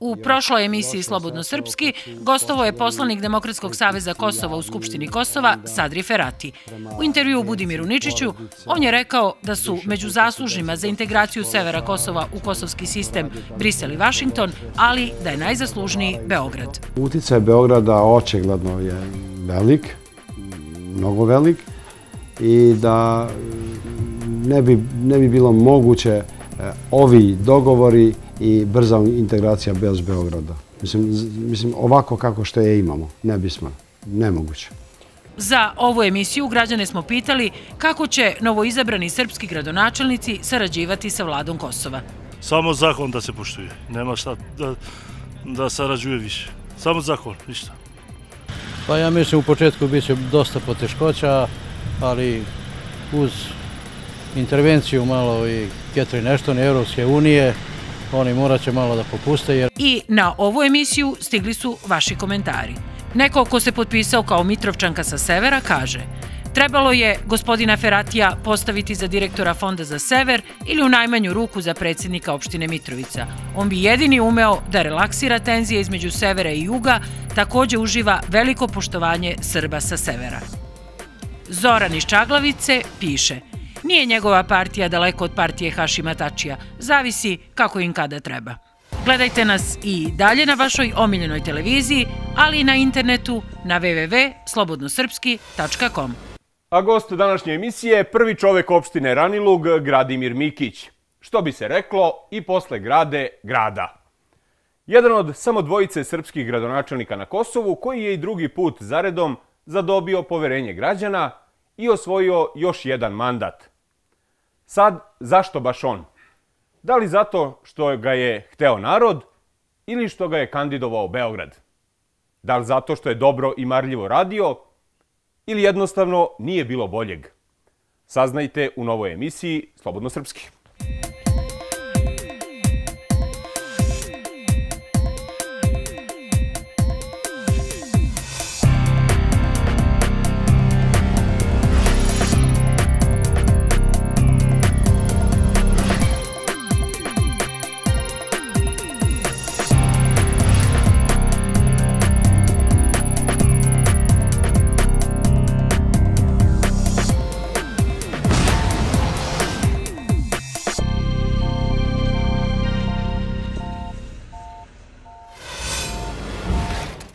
U prošloj emisiji Slobodno srpski gostovao je poslanik Demokratskog saveza Kosova u Skupštini Kosova Sadri Ferati. U intervjuu Budimiru Ničiću on je rekao da su među zaslužnima za integraciju severa Kosova u kosovski sistem Brisel i Vašington, ali da je najzaslužniji Beograd. Uticaj Beograda očigledno je velik, mnogo velik, i da ne bi bilo moguće ovi dogovori i brza integracija bez Beograda. Mislim, ovako kako što je imamo, ne bismo, nemoguće. Za ovu emisiju građane smo pitali kako će novoizabrani srpski gradonačelnici sarađivati sa vladom Kosova. Samo zakon da se poštuje, nema šta da sarađuje više. Samo zakon, ništa. Pa ja mislim u početku bit će dosta poteškoća, ali uz intervenciju malo i Catherine Ashton i Europske unije, oni morat će malo da popuste. I na ovu emisiju stigli su vaši komentari. Neko ko se potpisao kao Mitrovčanka sa severa kaže: trebalo je gospodina Feratija postaviti za direktora Fonda za sever ili u najmanju ruku za predsjednika opštine Mitrovica. On bi jedini umeo da relaksira tenzije između severa i juga, također uživa veliko poštovanje Srba sa severa. Zoran iz Čaglavice piše: nije njegova partija daleko od partije Hašima Tačija, zavisi kako im kada treba. Gledajte nas i dalje na vašoj omiljenoj televiziji, ali i na internetu na www.slobodnosrpski.com. A gost današnje emisije je prvi čovek opštine Ranilug, Gradimir Mikić. Što bi se reklo, i posle grade, grada. Jedan od samo dvojice srpskih gradonačelnika na Kosovu, koji je i drugi put zaredom zadobio poverenje građana i osvojio još jedan mandat. Sad, zašto baš on? Da li zato što ga je hteo narod ili što ga je kandidovao Beograd? Da li zato što je dobro i marljivo radio ili jednostavno nije bilo boljeg? Saznajte u novoj emisiji Slobodno srpski.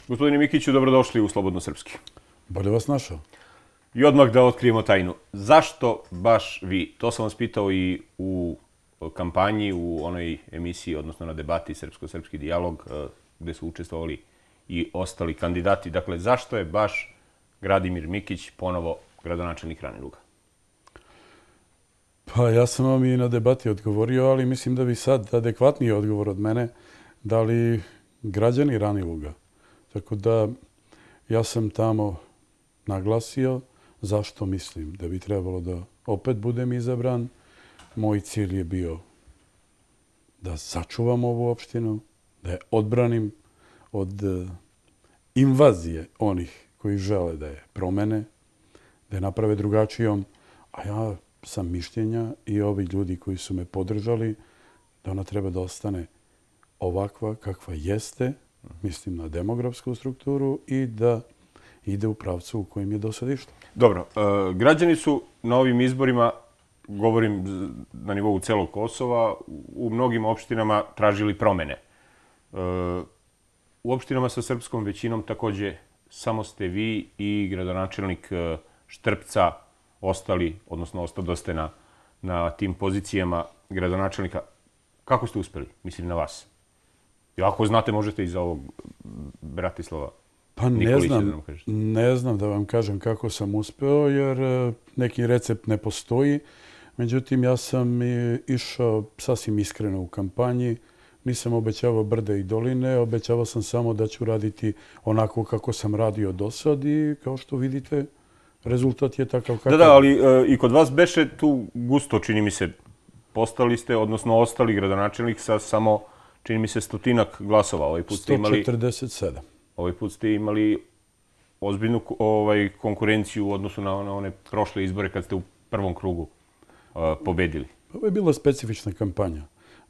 Gospodine Mikiću, dobrodošli u Slobodno srpski. Bolje vas našao. I odmah da otkrijemo tajnu. Zašto baš vi? To sam vas pitao i u kampanji, u onoj emisiji, odnosno na debati Srpsko-srpski dijalog, gde su učestvovali i ostali kandidati. Dakle, zašto je baš Gradimir Mikić ponovo gradonačelnik Raniluga? Pa ja sam vam i na debati odgovorio, ali mislim da bi sad adekvatniji odgovor od mene dali građani Raniluga. Tako da ja sam tamo naglasio zašto mislim da bi trebalo da opet budem izabran. Moj cilj je bio da sačuvam ovu opštinu, da je odbranim od invazije onih koji žele da je promene, da je naprave drugačijom. A ja sam mišljenja i ovi ljudi koji su me podržali da ona treba da ostane ovakva kakva jeste, mislim na demografsku strukturu, i da ide u pravcu u kojem je do sad išlo. Dobro, građani su na ovim izborima, govorim na nivou celog Kosova, u mnogim opštinama tražili promene. U opštinama sa srpskom većinom takođe samo ste vi i gradonačelnik Štrpca ostali, odnosno ostadoste na tim pozicijama gradonačelnika. Kako ste uspeli? Mislim na vas. I ako znate, možete i za ovog Bratislava Nikolića da nam kažete. Ne znam da vam kažem kako sam uspeo, jer neki recept ne postoji. Međutim, ja sam išao sasvim iskreno u kampanji. Nisam obećavao brde i doline, obećavao sam samo da ću raditi onako kako sam radio do sad i kao što vidite, rezultat je takav kakav. Da, ali i kod vas beše tu gusto, čini mi se, postali ste, odnosno ostali gradonačelnik sa samo, čini mi se, 100 glasova. 147. Ovaj put ste imali ozbiljnu konkurenciju u odnosu na one prošle izbore kad ste u prvom krugu pobedili. Ovo je bila specifična kampanja.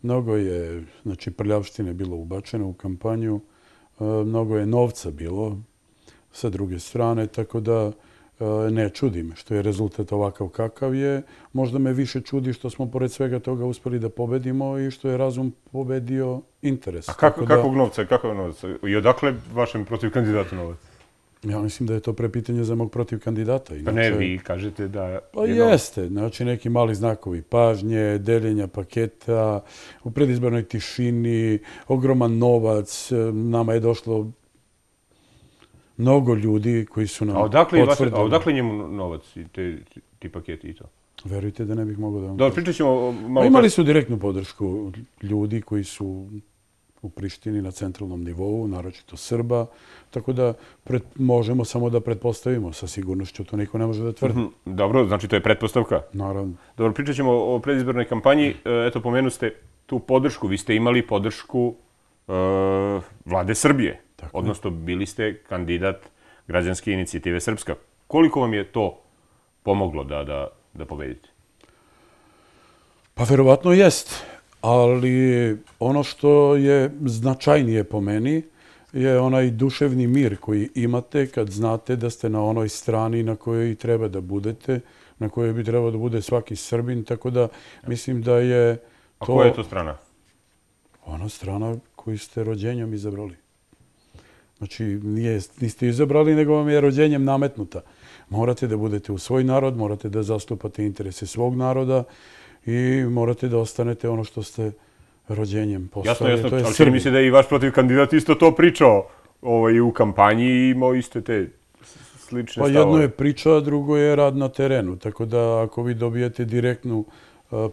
Mnogo je, znači, prljavštine bilo ubačeno u kampanju, mnogo je novca bilo sa druge strane, tako da ne čudi me što je rezultat ovakav kakav je. Možda me više čudi što smo pored svega toga uspeli da pobedimo i što je razum pobedio interes. A kakvog novca? I odakle vašem protiv kandidatu novac? Ja mislim da je to prepitanje za mog protiv kandidata. Pa ne, vi kažete da... Pa jeste. Znači, neki mali znakovi pažnje, deljenja paketa, u predizbornoj tišini, ogroman novac. Nama je došlo mnogo ljudi koji su nam potvrdili. A odakle njemu novac i ti paketi i to? Verujte da ne bih mogao da vam... Dobro, pričat ćemo malo... Imali su direktnu podršku ljudi koji su u Prištini na centralnom nivou, naročito Srba, tako da možemo samo da pretpostavimo sa sigurnošću, to niko ne može da tvrdi. Dobro, znači to je pretpostavka? Naravno. Dobro, pričat ćemo o predizbornoj kampanji. Eto, pomenu ste tu podršku. Vi ste imali podršku vlade Srbije, odnosno bili ste kandidat građanske inicijative Srpska. Koliko vam je to pomoglo da pobedite? Pa verovatno jest. Ali ono što je značajnije po meni je onaj duševni mir koji imate kad znate da ste na onoj strani na kojoj i treba da budete, na kojoj bi trebao da bude svaki Srbin, tako da mislim da je to... A koja je to strana? Ona strana koju ste rođenjem izabrali. Znači, niste izabrali, nego vam je rođenjem nametnuta. Morate da budete u svoj narod, morate da zastupate interese svog naroda, i morate da ostanete ono što ste rođenjem postali. Jasno, ali čini mi se da je i vaš protiv kandidat isto to pričao u kampanji i imao iste te slične stavove. Pa jedno je priča, a drugo je rad na terenu. Tako da ako vi dobijete direktnu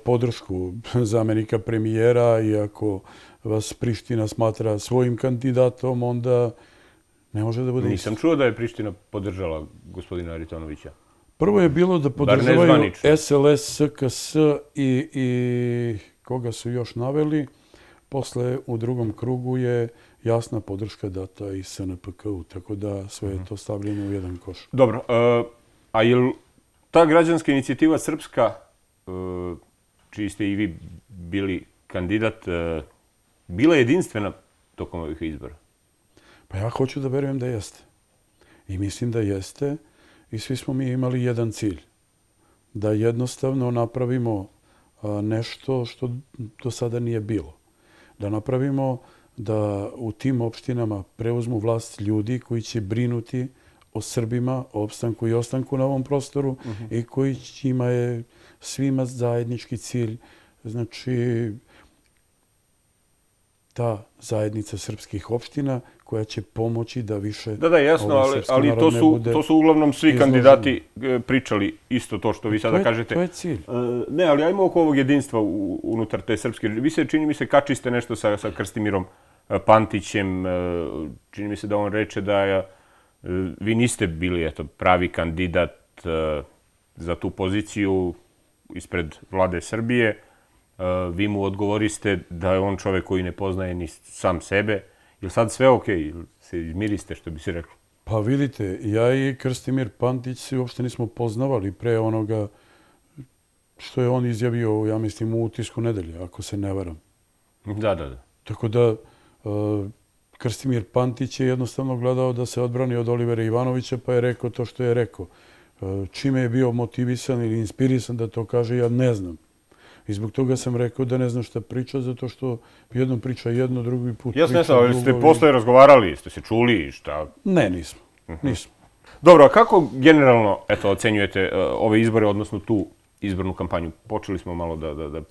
podršku zamenika premijera i ako vas Priština smatra svojim kandidatom, onda ne može da bude isto. Nisam čuo da je Priština podržala gospodina Aritonovića. Prvo je bilo da podržavaju SLS, SKS i koga su još naveli. Posle, u drugom krugu je jasna podrška data i SNPK-u, tako da sve je to stavljeno u jedan koš. Dobro, a je li ta građanska inicijativa Srpska, čiji ste i vi bili kandidat, bila jedinstvena tokom ovih izbora? Pa ja hoću da verujem da jeste. I mislim da jeste. I svi smo mi imali jedan cilj. Da jednostavno napravimo nešto što do sada nije bilo. Da napravimo da u tim opštinama preuzmu vlast ljudi koji će brinuti o Srbima, o opstanku i ostanku na ovom prostoru i koji ima je svima zajednički cilj. Znači, ta zajednica srpskih opština koja će pomoći da više... Da, jasno, ali to su uglavnom svi kandidati pričali isto to što vi sada kažete. To je cilj. Ne, ali ajmo oko ovog jedinstva unutar te srpske... Vi se, čini mi se, kačiste nešto sa Krstimirom Pantićem. Čini mi se da on reče da vi niste bili pravi kandidat za tu poziciju ispred vlade Srbije. Vi mu odgovoriste da je on čovek koji ne poznaje ni sam sebe. Je li sad sve okej? Se izmiriste, što bi se reklo? Pa vidite, ja i Krstimir Pantić se uopšte nismo poznavali pre onoga što je on izjavio, ja mislim, u Utisku nedelje, ako se ne varam. Da. Tako da Krstimir Pantić je jednostavno gledao da se odbrani od Olivera Ivanovića, pa je rekao to što je rekao. Čime je bio motivisan ili inspirisan da to kaže, ja ne znam. I zbog toga sam rekao da ne znam šta priča, zato što jednom priča jedno, drugi put priča drugo. Jasno, ali ste posle razgovarali, ste se čuli, šta? Ne, nismo. Dobro, a kako generalno ocenjujete ove izbore, odnosno tu izbornu kampanju? Počeli smo malo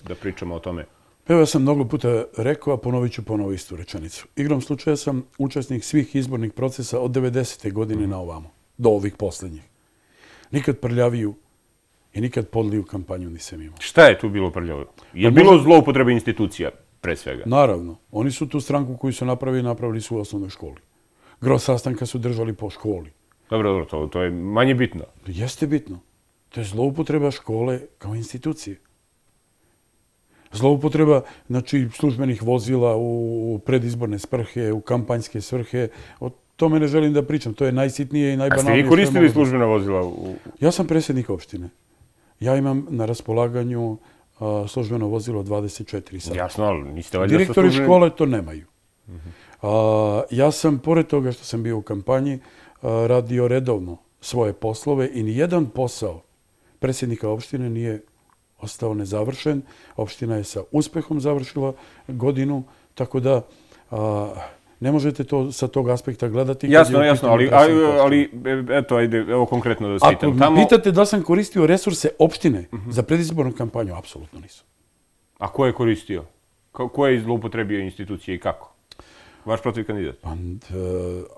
da pričamo o tome. Evo, ja sam mnogo puta rekao, a ponovit ću ponovo istu rečenicu. Igrom slučaja sam učesnik svih izbornih procesa od 90. godine na ovamo, do ovih poslednjih. Nikad prljaviju i nikad podliju kampanju nisam imao. Šta je tu bilo prljavo? Je bilo zloupotrebe institucija, pre svega? Naravno. Oni su tu stranku koju su napravili su u osnovnoj školi. Gro sastanka su držali po školi. Dobro, to je manje bitno. Jeste bitno. To je zloupotreba škole kao institucije. Zloupotreba, znači, službenih vozila u predizborne svrhe, u kampanjske svrhe. O tome ne želim da pričam. To je najsitnije i najbanalnije. A ste vi koristili službena vozila? Ja sam predsjednik opštine. Ja imam na raspolaganju službeno vozilo 24 sata. Jasno, ali niste valjda Direktori škole to nemaju. Ja sam, pored toga što sam bio u kampanji, radio redovno svoje poslove i nijedan posao predsjednika opštine nije ostao nezavršen. Opština je sa uspehom završila godinu, tako da ne možete to sa tog aspekta gledati. Jasno, ali eto, ajde, evo konkretno da vas pitam. Ako pitate da sam koristio resurse opštine za predizbornu kampanju, apsolutno nisam. A ko je koristio? Ko je zloupotrebio institucije i kako? Vaš protiv kandidat?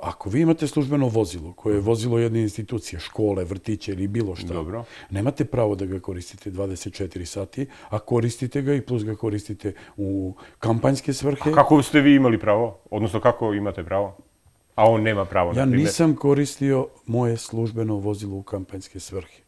Ako vi imate službeno vozilo, koje je vozilo jedne institucije, škole, vrtiće ili bilo šta, nemate pravo da ga koristite 24 sati, a koristite ga i plus ga koristite u kampanjske svrhe. A kako ste vi imali pravo? Odnosno, kako imate pravo? A on nema pravo, na primjer? Ja nisam koristio moje službeno vozilo u kampanjske svrhe.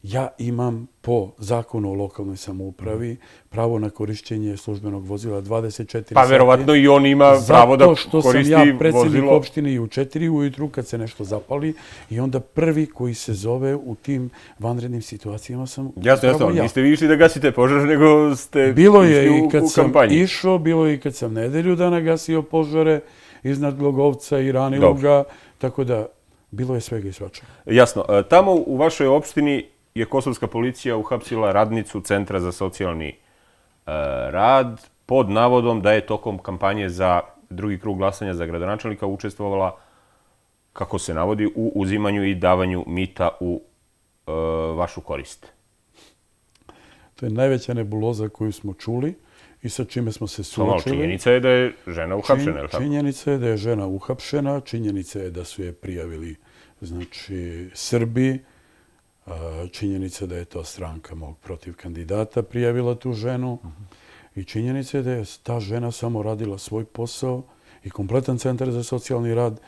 Ja imam po zakonu o lokalnoj samoupravi pravo na korišćenje službenog vozila 24 sati. Pa verovatno i on ima pravo da koristi vozilo. Zato što sam ja predsjednik opštine i u 4 ujutru kad se nešto zapali i onda prvi koji se zove u tim vanrednim situacijama sam Jasno, niste vi išli da gasite požar, nego ste išli u kampanji. Bilo je i kad sam išao, bilo je i kad sam nedelju dana gasio požare iznad Glogovca i Raniluga, tako da bilo je svega i svačega. Jasno. Tamo u vašoj opštini je kosovska policija uhapsila radnicu Centra za socijalni rad pod navodom da je tokom kampanje za drugi krug glasanja za gradonačelnika učestvovala, kako se navodi, u uzimanju i davanju mita u vašu korist. To je najveća nebuloza koju smo čuli i sa čime smo se suočili. Činjenica je da je žena uhapšena, je li tako? Činjenica je da je žena uhapšena, činjenica je da su je prijavili, znači, Srbi, činjenica da je to stranka mog protiv kandidata prijavila tu ženu i činjenica je da je ta žena samo radila svoj posao i kompletan Centar za socijalni rad,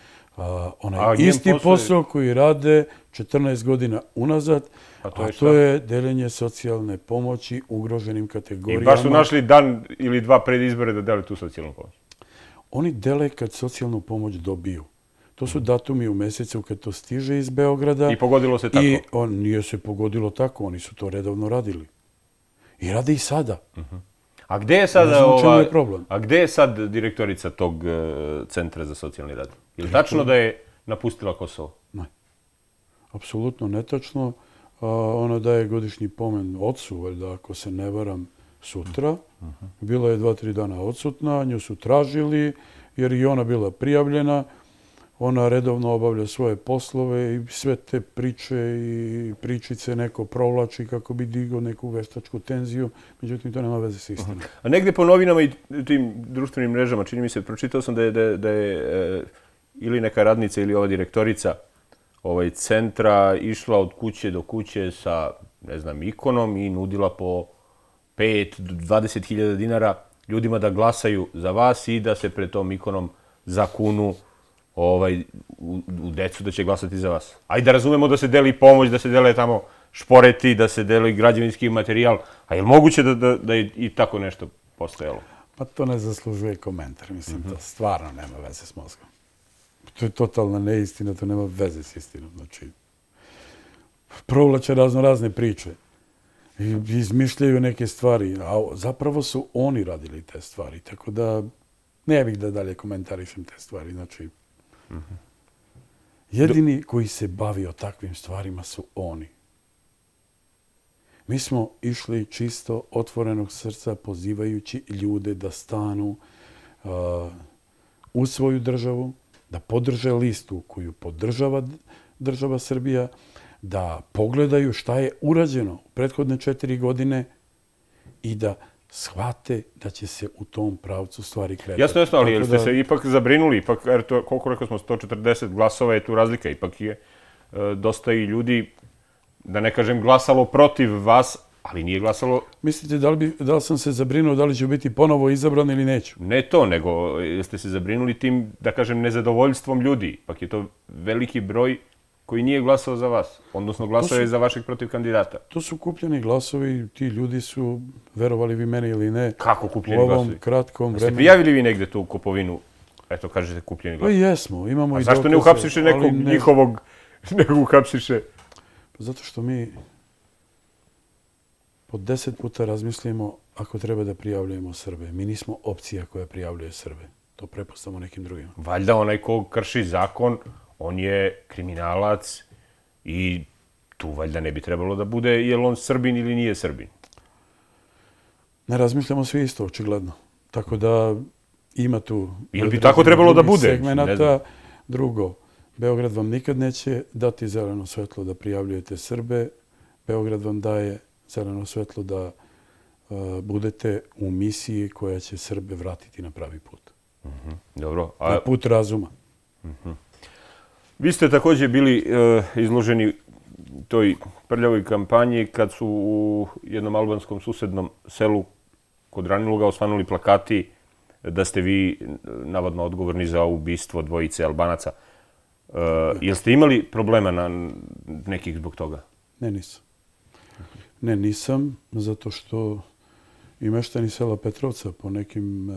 onaj isti posao koji rade 14 godina unazad, a to je deljenje socijalne pomoći ugroženim kategorijama. I baš su našli dan ili dva pred izbore da deli tu socijalnu pomoć? Oni dele kad socijalnu pomoć dobiju. To su datumi u mesecu kad to stiže iz Beograda. I pogodilo se tako? I nije se pogodilo tako, oni su to redovno radili. I rade i sada. A gde je sada A gde je sad direktorica tog Centra za socijalni rad? Je li tačno da je napustila Kosovo? Ne. Apsolutno netačno. Ona daje godišnji pomen ocu, valjda ako se ne varam, sutra. Bila je 2-3 dana odsutna, nju su tražili jer i ona bila prijavljena. Ona redovno obavlja svoje poslove i sve te priče i pričice neko provlači kako bi digao neku veštačku tenziju. Međutim, to nema veze s istinom. A negde po novinama i tim društvenim mrežama, čini mi se, pročitao sam da je ili neka radnica ili ova direktorica centra išla od kuće do kuće sa, ne znam, ikonom i nudila po 5-20 dinara ljudima da glasaju za vas i da se pred tom ikonom zakunu u decu da će glasati za vas. Ajde da razumemo da se deli pomoć, da se dele tamo šporeti, da se deli građevinski materijal. A je li moguće da je i tako nešto postojalo? Pa to ne zaslužuje komentar. Mislim, to stvarno nema veze s mozgom. To je totalna neistina, to nema veze s istinom. Znači, provlače razne priče. Izmišljaju neke stvari, a zapravo su oni radili te stvari. Tako da ne bih da dalje komentarišem te stvari. Znači, jedini koji se bavio takvim stvarima su oni. Mi smo išli čisto otvorenog srca pozivajući ljude da stanu u svoju državu, da podrže listu koju podržava država Srbija, da pogledaju šta je urađeno u prethodne 4 godine i da shvate da će se u tom pravcu stvari kretati. Jasno, ali ste se ipak zabrinuli, ipak, koliko rekao smo, 140 glasova je tu razlika, ipak je dosta i ljudi, da ne kažem, glasalo protiv vas, ali nije glasalo... Mislite da li sam se zabrinuo da li ću biti ponovo izabran ili neću? Ne to, nego ste se zabrinuli tim, da kažem, nezadovoljstvom ljudi. Ipak je to veliki broj koji nije glasao za vas, odnosno glasao je za vašeg protiv kandidata. To su kupljeni glasovi, ti ljudi su, verovali vi meni ili ne, kako kupljeni glasovi? U ovom kratkom vremenu. Ste prijavili vi negde tu kupovinu, eto kažete kupljeni glasovi? Pa jesmo, imamo i dokaze. A zašto ne uhapsiše nekog njihovog, nego uhapsiše? Zato što mi po 10 puta razmislimo ako treba da prijavljujemo Srbe. Mi nismo opcija koja prijavljuje Srbe. To prepostavimo nekim drugima. Valjda onaj ko krši zakon, on je kriminalac i tu valjda ne bi trebalo da bude je li on Srbin ili nije Srbin. Ne razmišljamo svi isto, očigledno. Tako da ima tu... Ili bi tako trebalo da bude? Segmenata. Drugo, Beograd vam nikad neće dati zeleno svetlo da prijavljujete Srbe. Beograd vam daje zeleno svetlo da budete u misiji koja će Srbe vratiti na pravi put. Dobro. Na put razuma. Vi ste također bili izloženi toj prljavoj kampanji kad su u jednom albanskom susednom selu kod Raniluga osvanuli plakati da ste vi navodno odgovorni za ubistvo dvojice Albanaca. Jel ste imali problema na nekih zbog toga? Ne, nisam. Ne, nisam, zato što i meštani sela Petrovca po nekim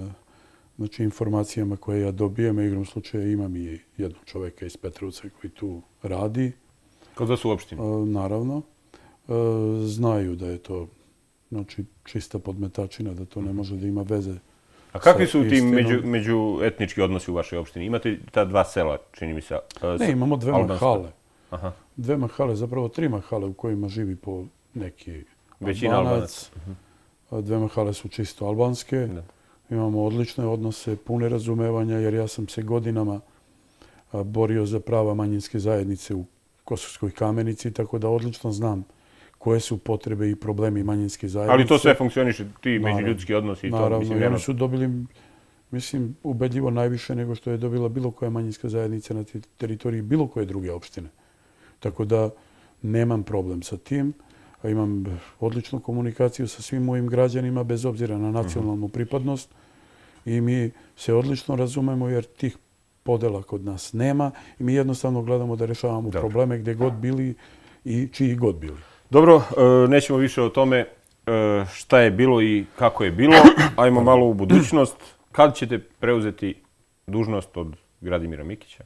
informacijama koje ja dobijem, a igrom slučaja imam i jednog čoveka iz Petrovca koji tu radi. Kod vas u opštini? Naravno. Znaju da je to čista podmetačina, da to ne može da ima veze. A kakvi su ti međuetnički odnosi u vašoj opštini? Imate ta dva sela, čini mi se? Ne, imamo dve mahale. Dve mahale, zapravo 3 mahale u kojima živi po neki Albanac. Dve mahale su čisto albanske. Imamo odlične odnose, pune razumevanja, jer ja sam se godinama borio za prava manjinske zajednice u Kosovskoj Kamenici, tako da odlično znam koje su potrebe i problemi manjinske zajednice. Ali to sve funkcioniše, ti međuljudski odnosi i to? Naravno, i oni su dobili, mislim, ubedljivo najviše nego što je dobila bilo koja manjinska zajednica na teritoriji bilo koje druge opštine. Tako da nemam problem sa tim. Imam odličnu komunikaciju sa svim mojim građanima, bez obzira na nacionalnu pripadnost. I mi se odlično razumemo jer tih podela kod nas nema i mi jednostavno gledamo da rešavamo probleme gde god bili i čiji god bili. Dobro, nećemo više o tome šta je bilo i kako je bilo. Ajmo malo u budućnost. Kad ćete preuzeti dužnost od Gradimira Mikića?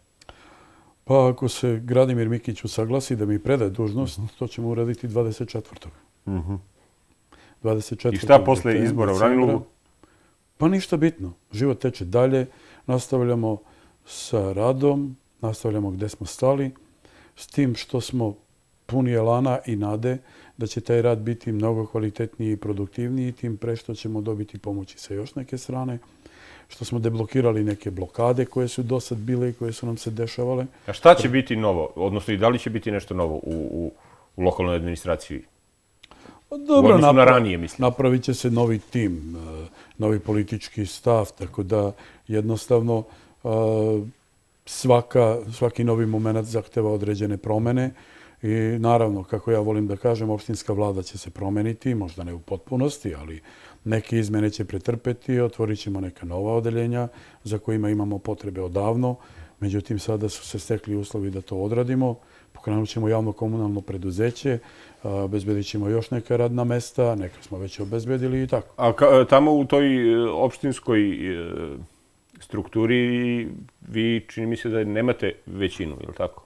Pa ako se Gradimir Mikić usaglasi da mi predaje dužnost, to ćemo uraditi 24. I šta posle izbora u Ranilugu? Pa ništa bitno. Život teče dalje. Nastavljamo sa radom, nastavljamo gde smo stali, s tim što smo puni elana i nade da će taj rad biti mnogo kvalitetniji i produktivniji, tim pre što ćemo dobiti pomoći sa još neke strane, što smo deblokirali neke blokade koje su do sad bile i koje su nam se dešavale. A šta će biti novo, odnosno i da li će biti nešto novo u lokalnoj administraciji? Dobro, napravit će se novi tim, novi politički stav, tako da jednostavno svaki novi moment zahteva određene promene i naravno, kako ja volim da kažem, opštinska vlada će se promeniti, možda ne u potpunosti, ali neke izmene će pretrpeti, otvorit ćemo neka nova odeljenja za kojima imamo potrebe odavno. Međutim, sada su se stekli uslovi da to odradimo. Pokrenut ćemo javno komunalno preduzeće, obezbedit ćemo još neka radna mesta, neka smo već obezbedili i tako. A tamo u toj opštinskoj strukturi vi čini mi se da nemate većinu, je li tako?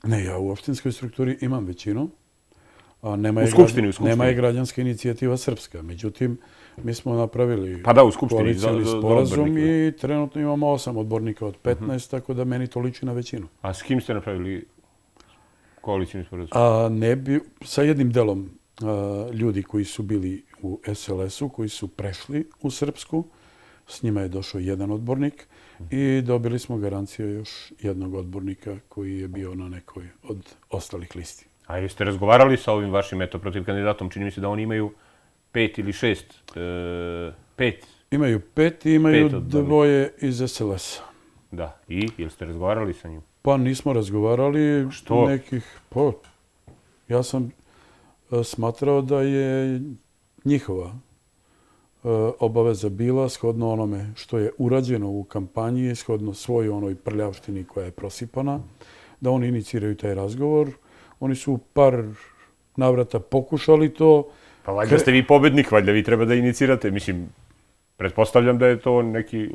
Ne, ja u opštinskoj strukturi imam većinu. U Skupštini? Nema je građanska inicijativa Srpska. Međutim, mi smo napravili koalicijni sporazum i trenutno imamo 8 odbornika od 15, tako da meni to liči na većinu. A s kim ste napravili koalicijni sporazum? Sa jednim delom ljudi koji su bili u SLS-u, koji su prešli u Srpsku. S njima je došao jedan odbornik i dobili smo garanciju još jednog odbornika koji je bio na nekoj od ostalih listi. A jeste razgovarali sa ovim vašim protiv kandidatom? Čini mi se da oni imaju 5 ili 6. 5. Imaju 5 i imaju 2 iz SLS-a. Da. I? Jel ste razgovarali sa njim? Pa nismo razgovarali. Što? Ja sam smatrao da je njihova obaveza bila shodno onome što je urađeno u kampanji, shodno svoj onoj prljavštini koja je prosipana, da oni iniciraju taj razgovor. Oni su par navrata pokušali to. Pa valjda ste vi pobednik, valjda vi treba da inicirate. Mislim, pretpostavljam da je to neki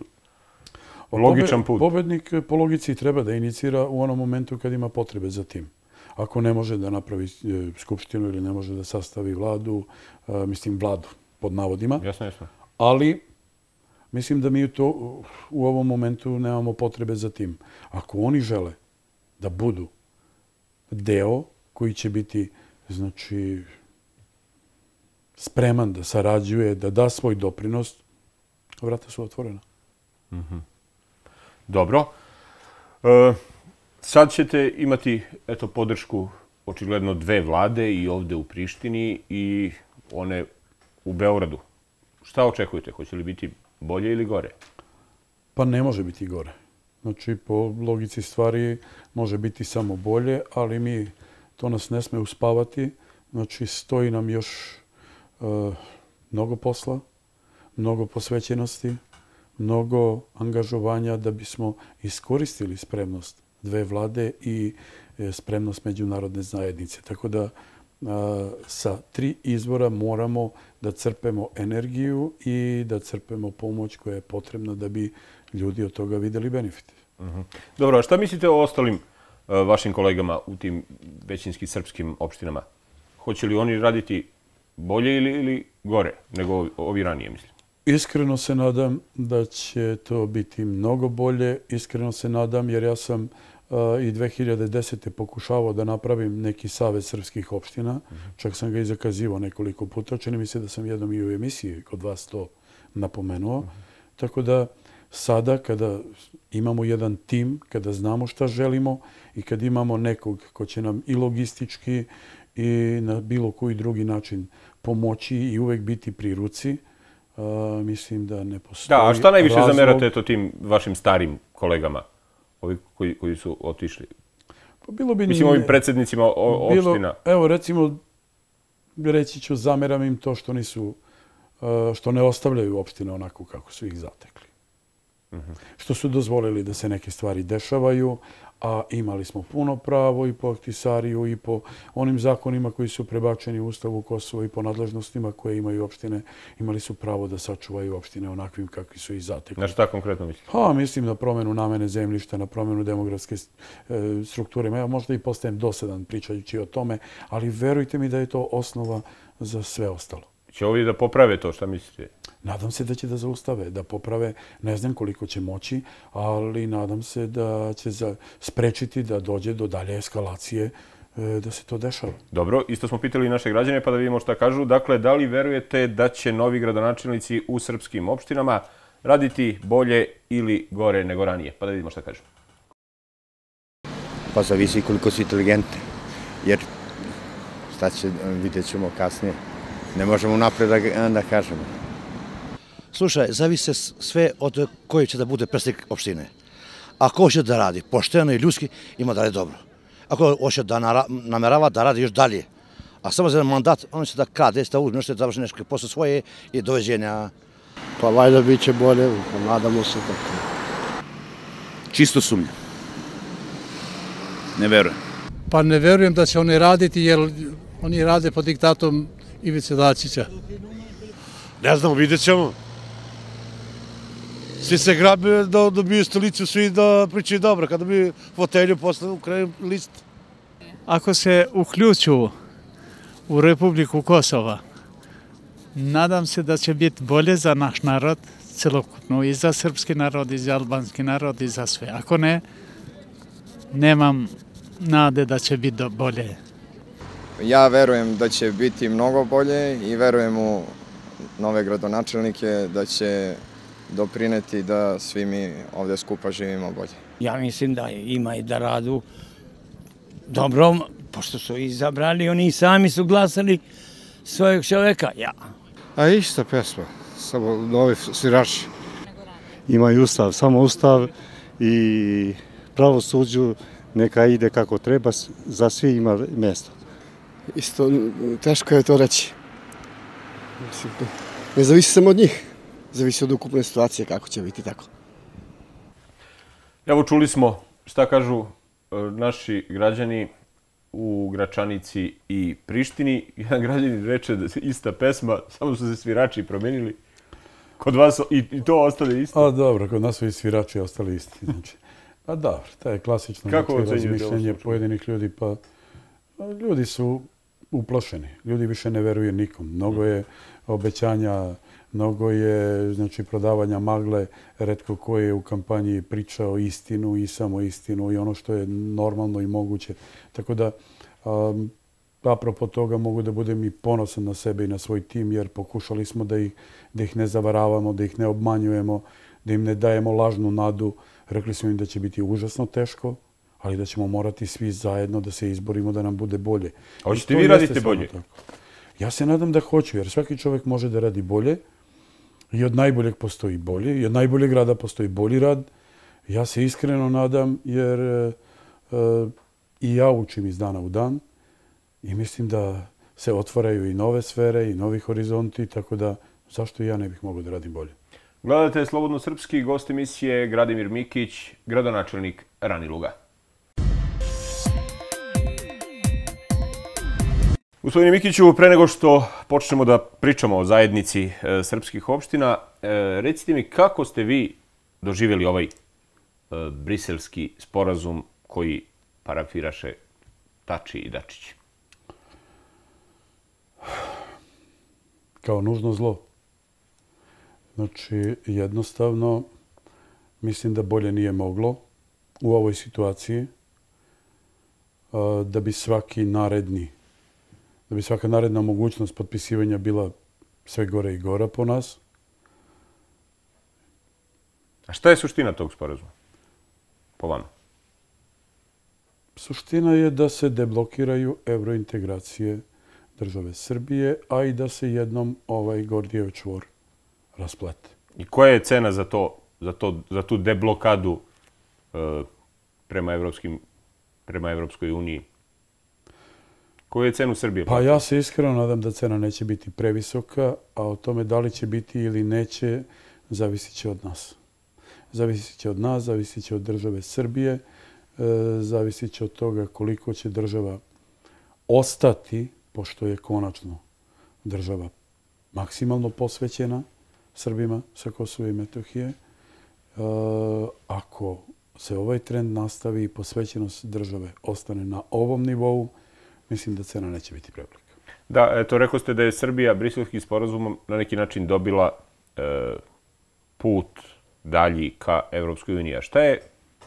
logičan put. Pobednik po logici treba da inicira u onom momentu kad ima potrebe za tim. ako ne može da napravi skupštinu ili ne može da sastavi vladu, mislim vladu pod navodima. Jasno, jasno. Ali mislim da mi u ovom momentu nemamo potrebe za tim. Ako oni žele da budu deo koji će biti, znači, spreman da sarađuje, da da svoj doprinos, vrata su otvorena. Dobro. Sad ćete imati podršku očigledno dve vlade i ovde u Prištini i one u Beogradu. Šta očekujete? Hoće li biti bolje ili gore? Pa ne može biti gore. Znači, po logici stvari može biti samo bolje, ali to nas ne sme uspavati. Znači, stoji nam još mnogo posla, mnogo posvećenosti, mnogo angažovanja da bismo iskoristili spremnost dve vlade i spremnost međunarodne zajednice. Tako da sa 3 izvora moramo da crpemo energiju i da crpemo pomoć koja je potrebna da bi ljudi od toga videli benefite. Dobro, a šta mislite o ostalim vašim kolegama u tim većinski srpskim opštinama? Hoće li oni raditi bolje ili gore nego ovi ranije, mislim? Iskreno se nadam da će to biti mnogo bolje. Iskreno se nadam jer ja sam i 2010. pokušavao da napravim neki savez srpskih opština. Čak sam ga i zakazivao nekoliko puta. Čini mi se da sam jednom i u emisiji kod vas to napomenuo. Tako da sada kada imamo jedan tim, kada znamo šta želimo i kad imamo nekog ko će nam i logistički i na bilo koji drugi način pomoći i uvek biti pri ruci, mislim da ne postoji Da, a šta najviše razlog... zamerate tim vašim starim kolegama, ovi koji su otišli? Pa bilo bi... Mislim, ovim predsjednicima opština. Evo, recimo, reći ću, zameram im to što ne ostavljaju opštine onako kako su ih zatekli. Što su dozvolili da se neke stvari dešavaju, a imali smo puno pravo i po Ahtisariju i po onim zakonima koji su prebačeni u Ustavu Kosova i po nadležnostima koje imaju opštine, imali su pravo da sačuvaju opštine onakvim kakvi su ih zatekli. Na šta konkretno mislite? Pa, mislim na promjenu namene zemljišta, na promjenu demografske strukture. Ja možda i postajem dosadan pričajući o tome, ali verujte mi da je to osnova za sve ostalo. Će ovi da poprave to, šta mislite? Nadam se da će da zaustave, da poprave, ne znam koliko će moći, ali nadam se da će sprečiti da dođe do dalje eskalacije, da se to dešava. Dobro, isto smo pitali naše građane pa da vidimo šta kažu. Dakle, da li verujete da će novi gradonačelnici u srpskim opštinama raditi bolje ili gore nego ranije? Pa da vidimo šta kažu. Pa zavisi koliko su inteligentni, jer šta će, vidjet ćemo kasnije. Ne možemo napred da kažemo. Slušaj, zavise sve od koji će da bude predsjednik opštine. Ako hoće da radi pošteno i ljudski, ima da radi dobro. Ako hoće da namerava da radi još dalje, a samo za mandat, on će da krade, da uzme nešto, da završi nešto posle svoje i doveđenja. Pa valjda bit će bolje, nadamo se tako. Čisto sumnja. Ne verujem. Pa ne verujem da će oni raditi, jer oni rade pod diktatom Ivice Dačića. Ne znamo, vidjet ćemo. Svi se grabe da dobiju stolicu, svi da pričaju dobro. Kada bi fotelju posle u kraju list. Ako se uključu u Republiku Kosova, nadam se da će biti bolje za naš narod, celokupno, i za srpski narod, i za albanski narod, i za sve. Ako ne, nemam nade da će biti bolje. Ja verujem da će biti mnogo bolje i verujem u nove gradonačelnike da će doprineti da svi mi ovdje skupa živimo bolje. Ja mislim da ima i da radu dobro, pošto su izabrali, oni sami su glasali svojeg čoveka. Ja. A ista pesma, samo novi svirači. Ima i ustav, samo ustav i pravosuđu neka ide kako treba, za svi ima mjesto. Isto, teško je to reći. Ne zavisi samo od njih, zavisi od ukupne situacije kako će biti tako. Evo čuli smo šta kažu naši građani u Gračanici i Prištini. Jedan građanin reče da je ista pesma, samo su se svirači promenili. Kod vas i to ostane isto? A dobro, kod nas su i svirači ostali isti. Znači, pa dobro, to je klasično razmišljenje pojedinih ljudi, pa Ljudi su uplašeni. Ljudi više ne veruju nikom. Mnogo je obećanja, mnogo je prodavanja magle. Retko ko je u kampanji pričao istinu i samo istinu i ono što je normalno i moguće. Tako da, apropo toga mogu da budem i ponosan na sebe i na svoj tim, jer pokušali smo da ih ne zavaravamo, da ih ne obmanjujemo, da im ne dajemo lažnu nadu. Rekli smo im da će biti užasno teško, ali da ćemo morati svi zajedno da se izborimo da nam bude bolje. A hoćete vi radite bolje? Ja se nadam da hoću, jer svaki čovjek može da radi bolje i od najboljeg postoji bolje i od najboljeg rada postoji bolji rad. Ja se iskreno nadam, jer i ja učim iz dana u dan i mislim da se otvaraju i nove sfere i novi horizonti, tako da zašto i ja ne bih mogao da radim bolje. Gledate Slobodno srpski, gost emisije Gradimir Mikić, gradonačelnik Raniluga. Gospodine Mikiću, pre nego što počnemo da pričamo o zajednici srpskih opština, recite mi kako ste vi doživjeli ovaj briselski sporazum koji parafiraše Tači i Dačić? Kao nužno zlo. Znači, jednostavno, mislim da bolje nije moglo u ovoj situaciji, da bi svaka naredna mogućnost potpisivanja bila sve gore i gora po nas. A šta je suština tog sporazuma, po vama? Suština je da se deblokiraju evrointegracije države Srbije, a i da se jednom ovaj Gordijev čvor rasplete. I koja je cena za tu deblokadu prema Evropskoj uniji? Koju je cenu Srbije? Pa ja se iskreno nadam da cena neće biti previsoka, a o tome da li će biti ili neće, zavisit će od nas. Zavisit će od nas, zavisit će od države Srbije, zavisit će od toga koliko će država ostati, pošto je konačno država maksimalno posvećena Srbima sa Kosova i Metohije. Ako se ovaj trend nastavi i posvećenost države ostane na ovom nivou, mislim da cena neće biti prevelika. Da, eto, rekao ste da je Srbija briselskim sporazumom na neki način dobila put dalji ka Evropskoj uniji. A šta je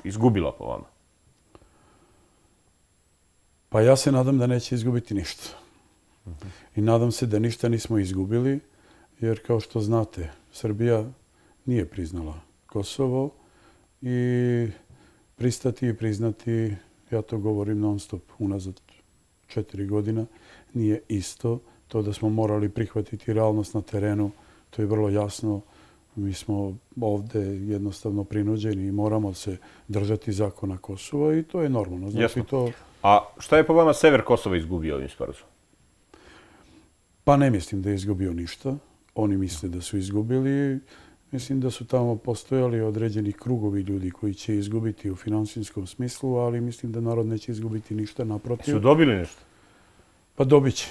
izgubila po vama? Pa ja se nadam da neće izgubiti ništa. I nadam se da ništa nismo izgubili, jer kao što znate, Srbija nije priznala Kosovo i pristati i priznati, ja to govorim non stop, unazad 4 godina, nije isto. To da smo morali prihvatiti realnost na terenu, to je vrlo jasno. Mi smo ovde jednostavno prinuđeni i moramo se držati zakona Kosova i to je normalno. Jasno. A šta je po vama sever Kosova izgubio ovim sporazumom? Pa ne mislim da je izgubio ništa. Oni misle da su izgubili. Mislim da su tamo postojali određeni krugovi ljudi koji će izgubiti u finansijskom smislu, ali mislim da narod neće izgubiti ništa, naprotiv. Su dobili nešto? Pa dobit će.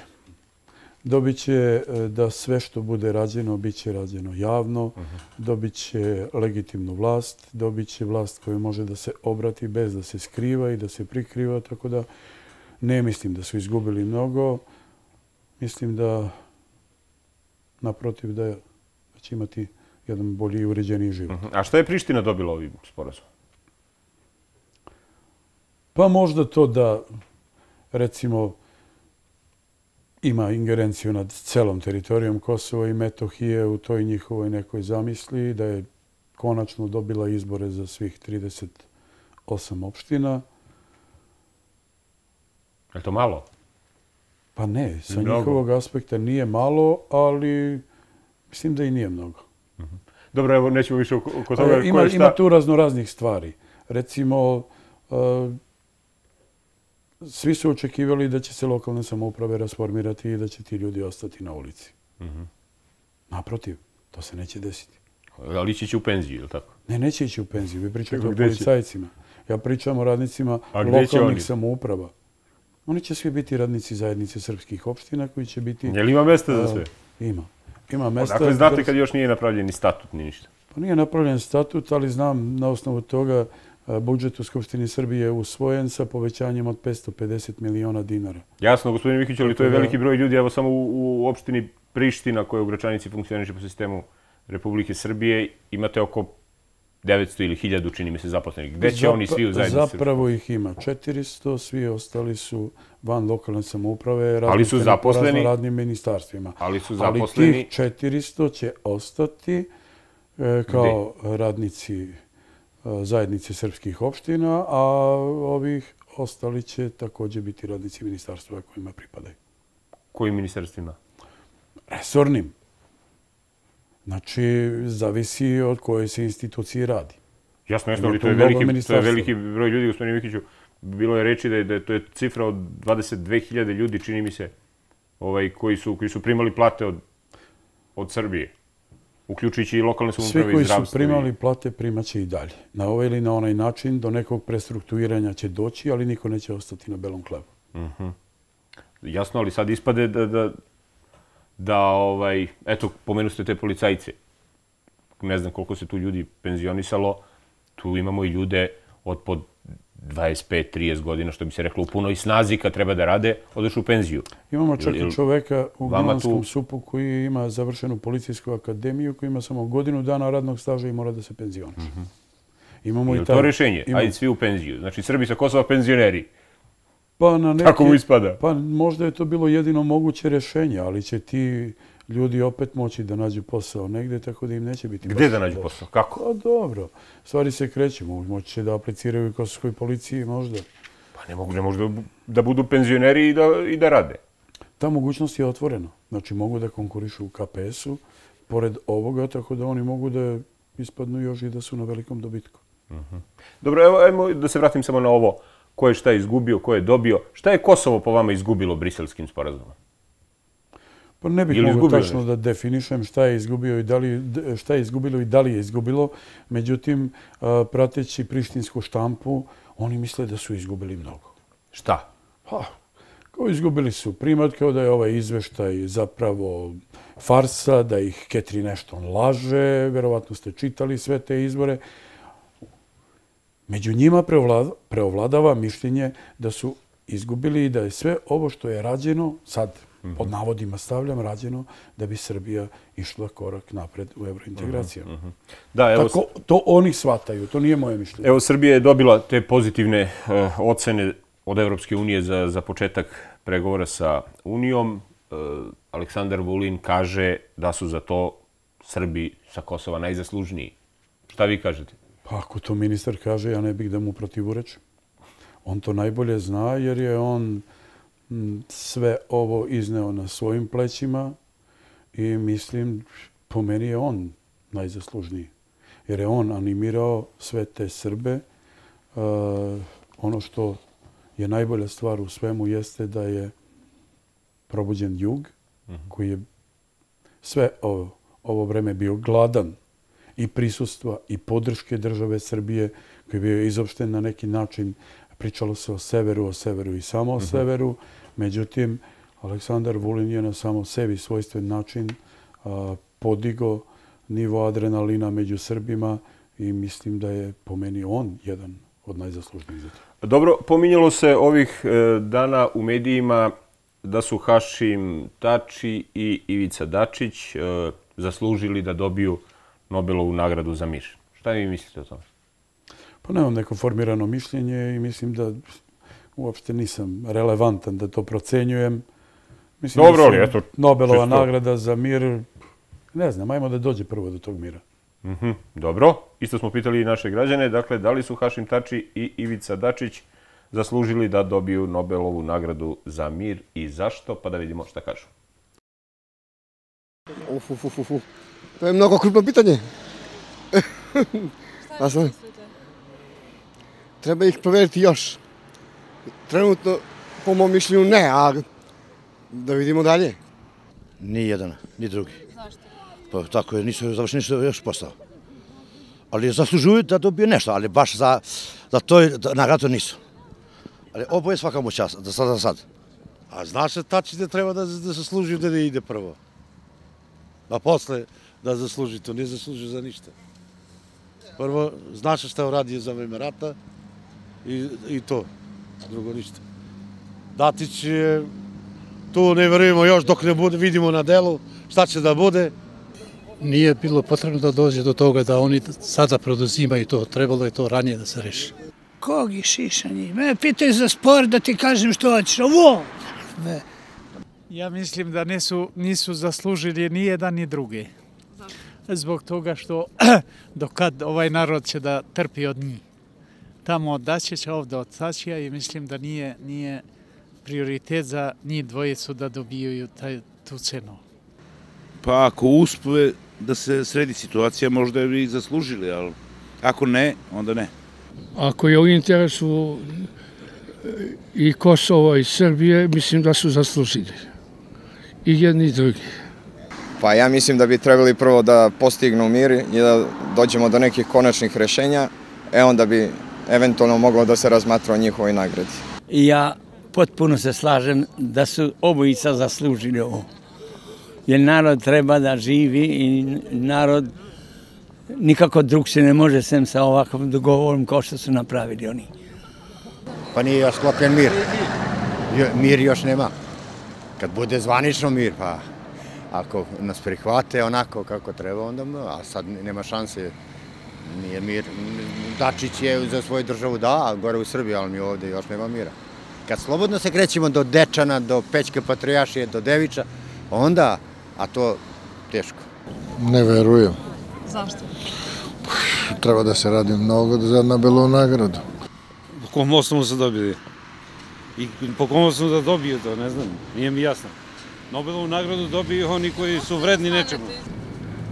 Dobit će da sve što bude rađeno, bit će rađeno javno, dobit će legitimnu vlast, dobit će vlast koju može da se obrati bez da se skriva i da se prikriva, tako da ne mislim da su izgubili mnogo. Mislim da, naprotiv, da će imati jedan bolji i uređeniji život. A šta je Priština dobila ovim sporazumom? Pa možda to da, recimo, ima ingerenciju nad celom teritorijom Kosova i Metohije u toj njihovoj nekoj zamisli, da je konačno dobila izbore za svih 38 opština. Je to malo? Pa ne, sa njihovog aspekta nije malo, ali mislim da i nije mnogo. Dobro, evo, nećemo više oko toga. Ima tu raznoraznih stvari. Recimo, svi su očekivali da će se lokalne samouprave rasformirati i da će ti ljudi ostati na ulici. Naprotiv, to se neće desiti. Ali ići će u penziju, ili tako? Ne, neće ići u penziju. Vi pričate o policajcima. Ja pričam o radnicima lokalnih samouprava. Oni će svi biti radnici zajednice srpskih opština koji će biti... Je li ima mesta za sve? Ima. Ima mesta... Dakle, znate kad još nije napravljen ni statut, ni ništa? Pa nije napravljen statut, ali znam na osnovu toga budžet u Skupštini Srbije je usvojen sa povećanjem od 550 miliona dinara. Jasno, gospodine Mikiću, ali to je veliki broj ljudi. Evo samo u opštini Priština, koja u Gračanici funkcioniše po sistemu Republike Srbije, imate oko 900 ili 1000, čini mi se, zaposlenih. Gde će oni svi u zajednici? Zapravo ih ima 400, svi ostali su van lokalne samouprave, ali su zaposleni po raznim ministarstvima. Ali su zaposleni. Ali tih 400 će ostati kao radnici zajednice srpskih opština, a ovih ostali će također biti radnici ministarstva kojima pripadaju. Kojim ministarstvima? Resornim. Znači, zavisi od koje se institucije radi. Jasno, ali to je veliki broj ljudi, gospodine Mikiću. Bilo je reči da to je cifra od 22.000 ljudi, čini mi se, koji su primali plate od Srbije, uključujući i lokalne samouprave i zdravstvo. Svi koji su primali plate primaće i dalje. Na ovaj ili na onaj način do nekog prestrukturiranja će doći, ali niko neće ostati na belom hlebu. Jasno, ali sad ispade da, eto, pomenu ste te policajce. Ne znam koliko se tu ljudi penzionisalo. Tu imamo i ljude od po 25-30 godina, što bi se reklo, u punoj snazi kad treba da rade, odeš u penziju. Imamo čak i čoveka u Gnjilanskom Supu koji ima završenu policijsku akademiju, koji ima samo godinu dana radnog staža i mora da se penzioniše. Je li to rješenje? Ajde svi u penziju. Znači, Srbi sa Kosova penzioneri. Tako mu ispada. Pa možda je to bilo jedino moguće rješenje, ali će ti ljudi opet moći da nađu posao negde, tako da im neće biti... Gde da nađu posao? Kako? Pa dobro. Stvari se kreću. Moći će da apliciraju u Kosovskoj policiji možda. Pa ne mogu da budu penzioneri i da rade. Ta mogućnost je otvorena. Znači mogu da konkurišu u KPS-u, pored ovoga, tako da oni mogu da ispadnu još i da su na velikom dobitku. Dobro, evo, ajmo da se vratim samo na ovo. Ko je šta izgubio, ko je dobio. Šta je Kosovo po vama izgubilo Briselskim sporazumom? Pa ne bih mogu tačno da definišem šta je izgubilo i da li je izgubilo. Međutim, prateći prištinsku štampu, oni misle da su izgubili mnogo. Šta? Pa, izgubili su primat kao da je ovaj izveštaj zapravo farsa, da ih Catherine Ashton laže, verovatno ste čitali sve te izvore. Među njima preovladava mišljenje da su izgubili i da je sve ovo što je rađeno, sad pod navodima stavljam, rađeno da bi Srbija išla korak napred u evrointegracijama. Tako to oni shvataju, to nije moje mišljenje. Evo, Srbija je dobila te pozitivne ocene od Evropske unije za početak pregovora sa Unijom. Aleksandar Vulin kaže da su za to Srbi sa Kosova najzaslužniji. Šta vi kažete? Pa ako to ministar kaže, ja ne bih da mu protivurečim. On to najbolje zna jer je on sve ovo izneo na svojim plećima i mislim, po meni je on najzaslužniji. Jer je on animirao sve te Srbe. Ono što je najbolja stvar u svemu jeste da je probuđen jug, koji je sve ovo vreme bio gladan i prisustva i podrške države Srbije, koji je bio izopšten na neki način. Pričalo se o severu i samo o severu. Međutim, Aleksandar Vulin je na samo sebi svojstven način podigo nivo adrenalina među Srbima i mislim da je po meni on jedan od najzaslužnijih za to. Dobro, pominjalo se ovih dana u medijima da su Hašim Tači i Ivica Dačić zaslužili da dobiju Nobelovu nagradu za mir. Šta vi mislite o tome? Pa nemam neko formirano mišljenje i mislim da uopšte nisam relevantan da to procenjujem. Dobro, ali eto... Nobelova nagrada za mir, ne znam, ajmo da dođe prvo do tog mira. Dobro, isto smo pitali i naše građane, dakle, da li su Hašim Tači i Ivica Dačić zaslužili da dobiju Nobelovu nagradu za mir i zašto, pa da vidimo šta kažu. To je mnogo krupno pitanje. Šta mislite? Treba ih proveriti još. Trenutno, po mom mišljenju, ne, a da vidimo dalje. Ni jedan, ni drugi. Zašto? Pa tako je, nisu završeni još posao. Ali zaslužuju da dobiju nešto, ali baš za to nagradu nisu. Ali oboje svaka mu čast, za sad. A zna se Tači da treba da zasluži da ne ide prvo. A posle da zasluži to, ne zasluži za ništa. Prvo, zna se šta je uradio za vreme rata i to, drugo ništa. Datić je, tu ne verujemo još dok ne bude, vidimo na delu šta će da bude. Nije bilo potrebno da dođe do toga da oni sada preduzimaju to, trebalo je to ranije da se reši. Kog je šišanje? Me pitaju za sport da ti kažem što hoćeš, ovo! Ja mislim da nisu zaslužili ni jedan ni drugi. Zbog toga što dokad ovaj narod će da trpi od njih. Tamo od Dačića, ovde od Tačija i mislim da nije prioritet za njih dvojicu da dobijaju tu cenu. Pa ako uspe da se sredi situacija, možda bi ih zaslužili, ali ako ne, onda ne. Ako je u interesu i Kosova i Srbije, mislim da su zaslužili. I jedni i drugi. Pa ja mislim da bi trebali prvo da postignu mir i da dođemo do nekih konačnih rešenja, onda bi eventualno moglo da se razmatra o njihovoj nagradi. Ja potpuno se slažem da su obojica zaslužili ovo. Jer narod treba da živi i narod nikako drug se ne može sem sa ovakvom dogovorom kao što su napravili oni. Pa nije još sklopljen mir. Mir još nema. Kad bude zvanično mir, pa ako nas prihvate onako kako treba, onda, a sad nema šanse, nije mir. Dačić je za svoju državu da, gore u Srbiji, ali mi ovde još nema mira. Kad slobodno se krećemo do Dečana, do Pećke Patrijaršije, do Deviča, onda, a to teško. Ne verujem. Zašto? Treba da se radi mnogo za Nobelovu nagradu. Po kom osnovu su dobili? I po kom osnovu da dobiju to, ne znam, nije mi jasno. Nobelovu nagradu dobiju oni koji su vredni nečemu.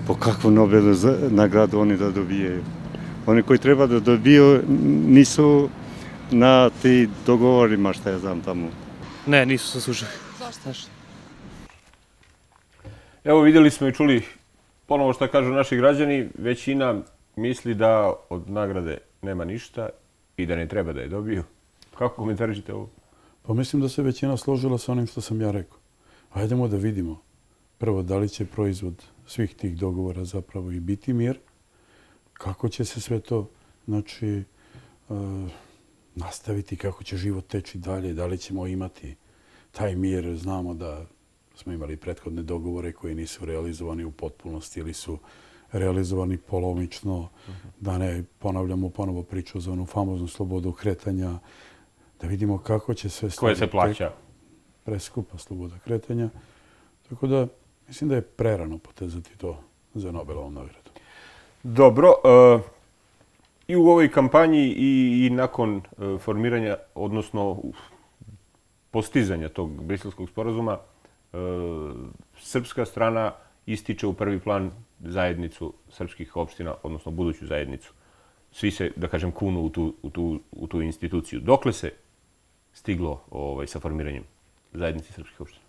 Po kakvu Nobelovu nagradu oni da dobijaju? Oni koji treba da dobiju nisu na ti dogovorima, šta ja znam tamo. Ne, nisu se slušali. Zašto? Evo vidjeli smo i čuli ponovo što kažu naši građani, većina misli da od nagrade nema ništa i da ne treba da je dobiju. Kako komentarišete ovo? Pa mislim da se većina složila sa onim što sam ja rekao. Hajdemo da vidimo prvo da li će proizvod svih tih dogovora zapravo i biti mir, kako će se sve to nastaviti, kako će život teći dalje, da li ćemo imati taj mir. Znamo da smo imali prethodne dogovore koji nisu realizovani u potpunosti ili su realizovani polomično, da ne ponavljamo ponovo priču za onu famoznu slobodu kretanja, da vidimo kako će sve koje se plaća. Preskupa sloboda kretanja. Tako da mislim da je prerano potezati to za Nobelovu nagradu. Dobro. I u ovoj kampanji i nakon formiranja, odnosno postizanja tog briselskog sporazuma, srpska strana ističe u prvi plan zajednicu srpskih opština, odnosno buduću zajednicu. Svi se, da kažem, kunu u tu instituciju. Dokle se stiglo sa formiranjem zajednice srpskih opština?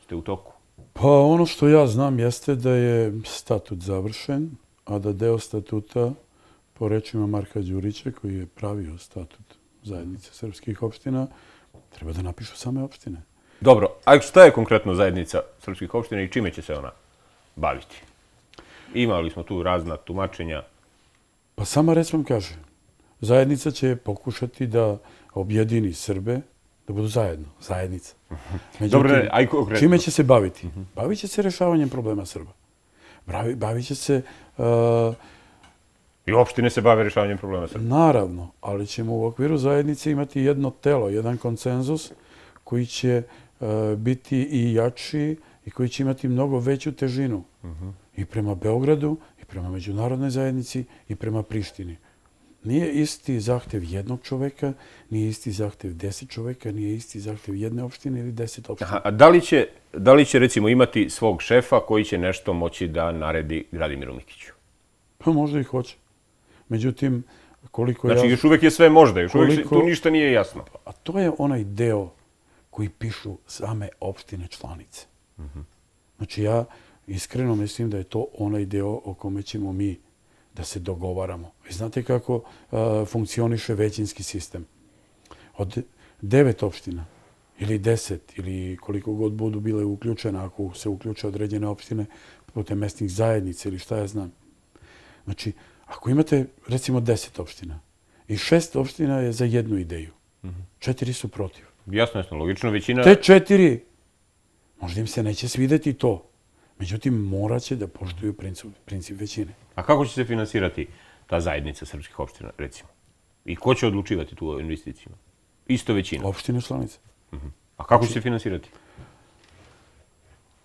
Ste u toku? Pa ono što ja znam jeste da je statut završen, a da deo statuta, po rečima Marka Đurića, koji je pravio statut zajednice srpskih opština, treba da napišu same opštine. Dobro, a šta je konkretno zajednica srpskih opština i čime će se ona baviti? Imali smo tu razna tumačenja. Pa sama reč vam kaže, zajednica će pokušati da objedini Srbe, da budu zajedno, zajednica. Dobro, aj konkretno. Čime će se baviti? Bavit će se rešavanjem problema Srba. Bavit će se... I opštine se bave rešavanjem problema Srba. Naravno, ali ćemo u okviru zajednice imati jedno telo, jedan konsenzus koji će biti i jači i koji će imati mnogo veću težinu. I prema Beogradu, i prema međunarodnoj zajednici, i prema Prištini. Nije isti zahtev jednog čoveka, nije isti zahtev 10 čoveka, nije isti zahtev jedne opštine ili 10 opština. A da li će recimo imati svog šefa koji će nešto moći da naredi Gradimiru Mikiću? Pa možda i hoće. Međutim, koliko Znači, još uvek je sve možda, još uvek tu ništa nije jasno. A to je onaj deo koji pišu same opštine članice. Znači, ja iskreno mislim da je to onaj deo o kome ćemo mi da se dogovaramo. Vi znate kako funkcioniše većinski sistem. Od 9 opština ili 10 ili koliko god budu bile uključene, ako se uključe određene opštine putem mesnih zajednica ili šta ja znam. Znači, Ako imate, recimo, 10 opština i 6 opština je za jednu ideju, 4 su protiv. Jasno, logično, većina... Te 4, možda im se neće svideti to. Međutim, morat će da poštuju princip većine. A kako će se finansirati ta zajednica srpskih opština, recimo? I ko će odlučivati tu o investicijama? Isto većina. Opštine članice. A kako će se finansirati?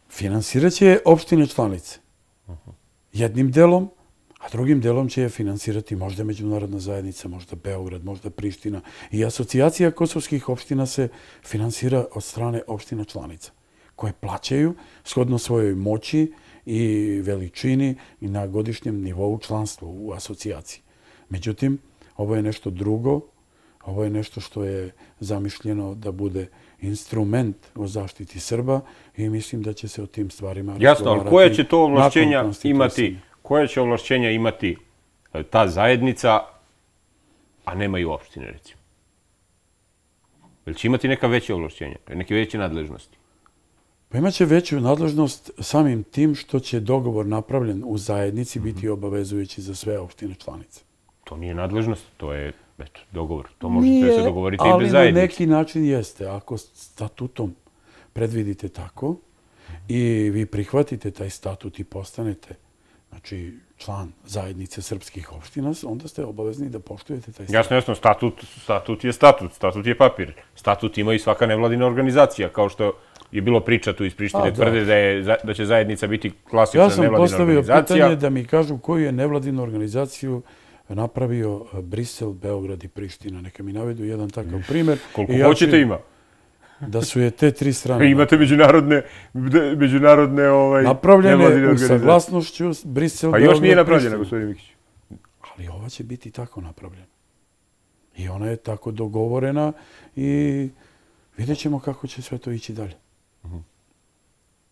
Finansirat će opštine članice. Jednim delom, a drugim delom će je finansirati možda međunarodna zajednica, možda Beograd, možda Priština. I asocijacija kosovskih opština se finansira od strane opština članica, koje plaćaju shodno svojoj moći i veličini i na godišnjem nivou članstva u asocijaciji. Međutim, ovo je nešto drugo, ovo je nešto što je zamišljeno da bude instrument u zaštiti Srba i mislim da će se o tim stvarima razgovarati. Jasno, ali koje će to ovlašćenja imati, koje će ovlašćenja imati ta zajednica, a nema i opštine, recimo? Jel će imati neka veća ovlašćenja, neke veće nadležnosti? Pa imaće veću nadležnost samim tim što će dogovor napravljen u zajednici biti obavezujući za sve opštine članice. To nije nadležnost, to je dogovor. To možete se dogovoriti i bez zajednice. Ali na neki način jeste. Ako statutom predvidite tako i vi prihvatite taj statut i postanete član zajednice srpskih opština, onda ste obavezni da poštujete taj statut. Jasno, statut je statut, statut je papir. Statut ima i svaka nevladina organizacija, kao što je bilo priča tu iz Prištine, tvrde da će zajednica biti klasična nevladina organizacija. Ja sam postavio pitanje da mi kažu koju je nevladinu organizaciju napravio Brisel, Beograd i Priština. Neka mi navedu jedan takav primer. Koliko hoćete ima. Da su je te 3 strane. Imate međunarodne napravljene u saglasnošću Brisel, Beograd, Priština. Pa još nije napravljena, gospodin Mikić. Ali ova će biti tako napravljena. I ona je tako dogovorena i vidjet ćemo kako će sve to ići dalje.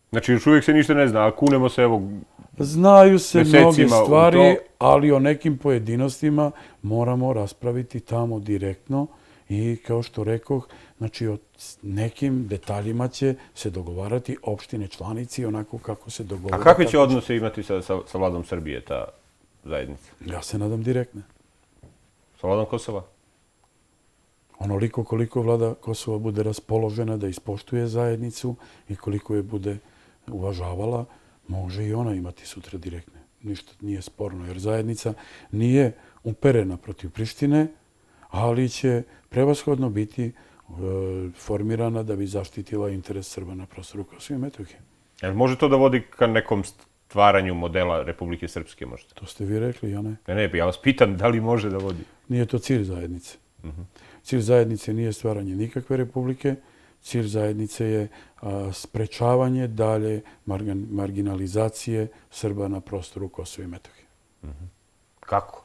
Znači, još uvijek se ništa ne zna, a kunemo se evo znaju se mnoge stvari, ali o nekim pojedinostima moramo raspraviti tamo direktno i kao što rekoh, znači o nekim detaljima će se dogovarati opštine članici onako kako se dogovara. A kakve će odnose imati sa vladom Srbije ta zajednica? Ja se nadam direktne. Sa vladom Kosova? Onoliko koliko vlada Kosova bude raspoložena da ispoštuje zajednicu i koliko je bude uvažavala, može i ona imati sutra direktne. Ništa nije sporno, jer zajednica nije uperena protiv Prištine, ali će prevashodno biti formirana da bi zaštitila interes Srba na prostoru Kosova i Metohije. Jel može to da vodi ka nekom stvaranju modela Republike Srpske možda? To ste vi rekli, ja ne. Ne, ja vas pitam da li može da vodi. Nije to cilj zajednice. Cilj zajednice nije stvaranje nikakve republike. Cilj zajednice je sprečavanje dalje marginalizacije Srba na prostoru Kosova i Metohije. Kako?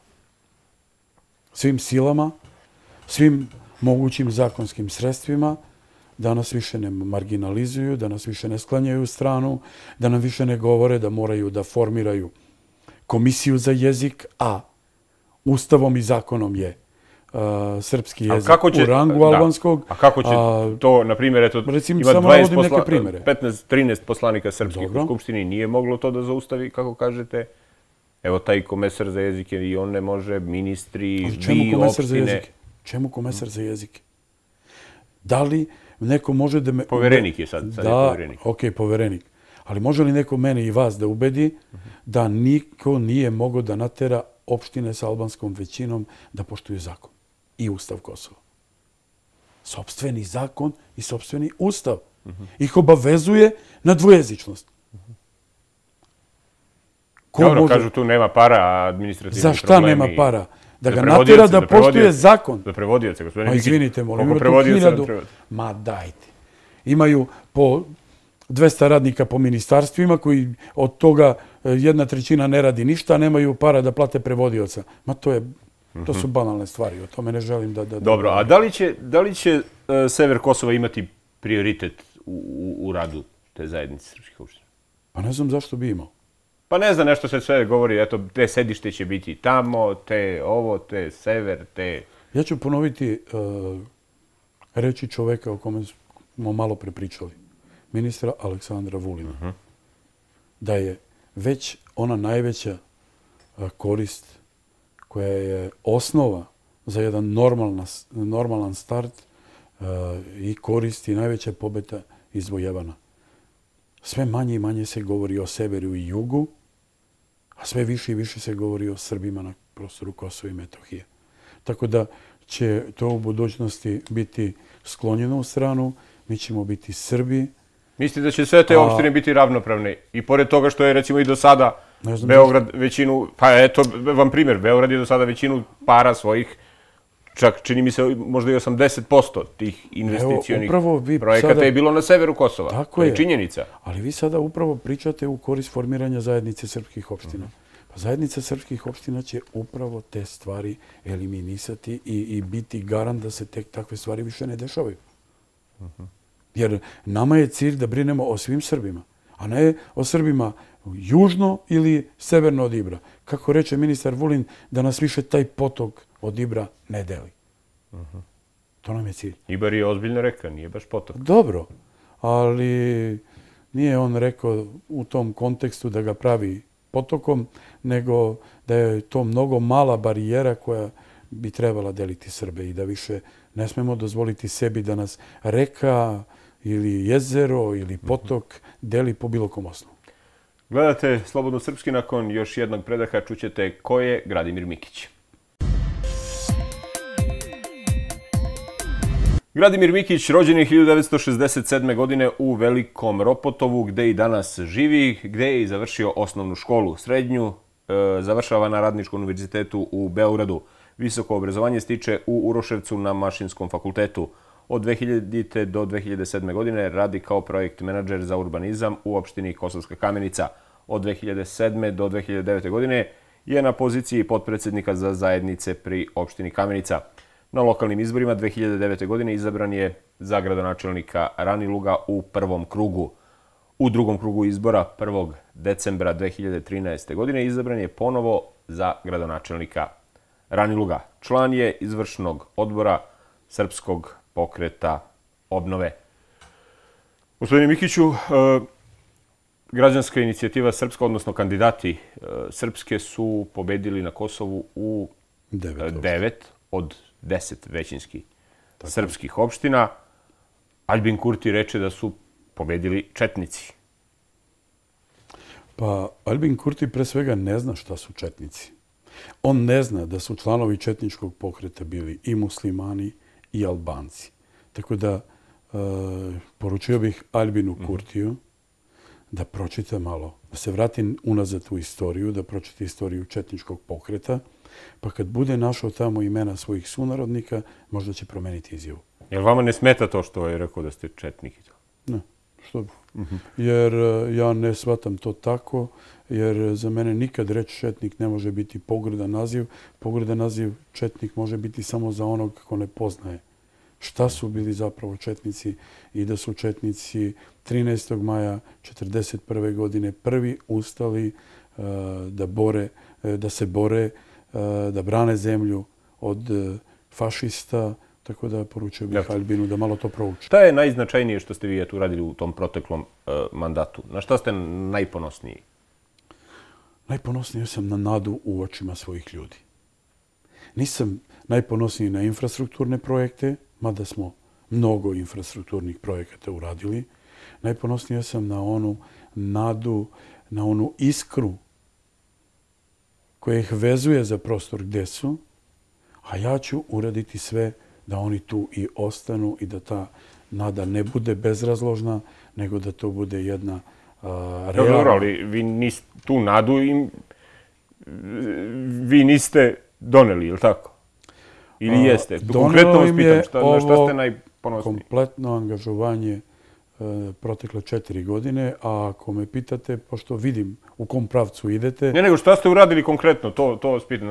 Svim silama, svim mogućim zakonskim sredstvima, da nas više ne marginalizuju, da nas više ne sklanjaju u stranu, da nam više ne govore da moraju da formiraju komisiju za jezik, a Ustavom i zakonom je srpski jezik u rangu albanskog. A kako će to, na primjer, ima 13 poslanika srpskih u Skupštini, nije moglo to da zaustavi, kako kažete? Evo, taj komesar za jezike i on ne može, ministri, vi, opštine. Čemu komesar za jezike? Da li neko može da me... Poverenik je sad je poverenik. Ok, poverenik. Ali može li neko mene i vas da ubedi da niko nije mogao da natera opštine sa albanskom većinom da poštuju zakon i Ustav Kosova? Sopstveni zakon i sopstveni Ustav ih obavezuje na dvojezičnost. Dobro, kažu tu nema para, a administrativni problemi... Za šta nema para? Da ga natera da poštuje zakon. Za prevodioce, gospodine Mikić. Izvinite, molim, ima tu 1000... Ma dajte. Imaju po 200 radnika po ministarstvima koji od toga 1/3 ne radi ništa, a nemaju para da plate prevodioca. Ma to su banalne stvari, o tome ne želim da... Dobro, a da li će sever Kosova imati prioritet u radu te zajednice srpskih opština? Pa ne znam zašto bi imao. Pa ne znam, nešto se sve govori, eto, te sedište će biti tamo, te ovo, te sever, te... Ja ću ponoviti reči čoveka o kome smo malo prepričali. Ministra Aleksandra Vulina. Da je već ona najveća korist koja je osnova za jedan normalan start i korist i najveća pobeda izvojevana. Sve manje i manje se govori o severu i jugu, a sve više i više se govori o Srbima na prostoru Kosova i Metohije. Tako da će to u budućnosti biti sklonjeno u stranu, mi ćemo biti Srbi. Mislite da će sve te opštine biti ravnopravne? I pored toga što je recimo i do sada Beograd većinu, pa eto vam primjer, Beograd je do sada većinu para svojih, čak čini mi se možda i 80% tih investicionih projekata je bilo na severu Kosova. Tako je činjenica. Ali vi sada upravo pričate u korist formiranja zajednice srpskih opština. Pa zajednica srpskih opština će upravo te stvari eliminisati i biti garant da se takve stvari više ne dešavaju. Jer nama je cilj da brinemo o svim Srbima, a ne o Srbima južno ili severno od Ibra. Kako reče ministar Vulin, da nas više taj potok od Ibra ne deli. To nam je cilj. Ibar je ozbiljna reka, nije baš potok. Dobro, ali nije on rekao u tom kontekstu da ga pravi potokom, nego da je to mnogo mala barijera koja bi trebala deliti Srbe i da više ne smemo dozvoliti sebi da nas reka ili jezero ili potok deli po bilo kom osnovu. Gledate Slobodno srpski, nakon još jednog predaha čućete ko je Gradimir Mikić. Gradimir Mikić rođen je 1967. godine u Velikom Ropotovu, gde i danas živi, gde je i završio osnovnu školu. Srednju završava na Radničkom univerzitetu u Beogradu. Visoko obrazovanje stiče u Uroševcu na Mašinskom fakultetu. Od 2000. do 2007. godine radi kao projekt menadžer za urbanizam u opštini Kosovska Kamenica. Od 2007. do 2009. godine je na poziciji potpredsednika za zajednice pri opštini Kamenica. Na lokalnim izborima 2009. godine izabran je za gradonačelnika Raniluga u prvom krugu. U drugom krugu izbora 1. decembra 2013. godine izabran je ponovo za gradonačelnika Raniluga. Član je izvršnog odbora Srpskog pokreta obnove. Gospodine Mikiću, građanska inicijativa Srpska, odnosno kandidati Srpske su pobedili na Kosovu u 9 od 10 većinskih srpskih opština. Aljbin Kurti reče da su pobedili četnici. Pa Aljbin Kurti pre svega ne zna šta su četnici. On ne zna da su članovi četničkog pokreta bili i muslimani i Albanci. Tako da poručio bih Aljbinu Kurtiju da pročita malo, da se vrati unazad u istoriju, da pročita istoriju četničkog pokreta, pa kad bude našao tamo imena svojih sunarodnika, možda će promeniti izjavu. Jel vama ne smeta to što je rekao da ste četnik i to? Ne, što bi. Jer ja ne shvatam to tako, jer za mene nikad reč četnik ne može biti pogrdan naziv. Pogrdan naziv četnik može biti samo za onog ko ne poznaje šta su bili zapravo četnici i da su četnici 13. maja 1941. godine prvi ustali da se bore, da brane zemlju od fašista, tako da poručio bih Aljbinu da malo to prouči. Šta je najznačajnije što ste vi uradili u tom proteklom mandatu? Na šta ste najponosniji? Najponosniji sam na nadu u očima svojih ljudi. Nisam najponosniji na infrastrukturne projekte, mada smo mnogo infrastrukturnih projekata uradili. Najponosniji sam na onu nadu, na onu iskru koja ih vezuje za prostor gde su, a ja ću uraditi sve da oni tu i ostanu i da ta nada ne bude bezrazložna, nego da to bude jedna realna... Dobro, ali vi tu nadu vi niste doneli, ili tako? Ili jeste? Konkretno vas pitam, na šta ste najponosniji? Kompletno angažovanje protekle 4 godine, a ako me pitate, pošto vidim u kom pravcu idete... Ne, nego šta ste uradili konkretno, to vas pitam,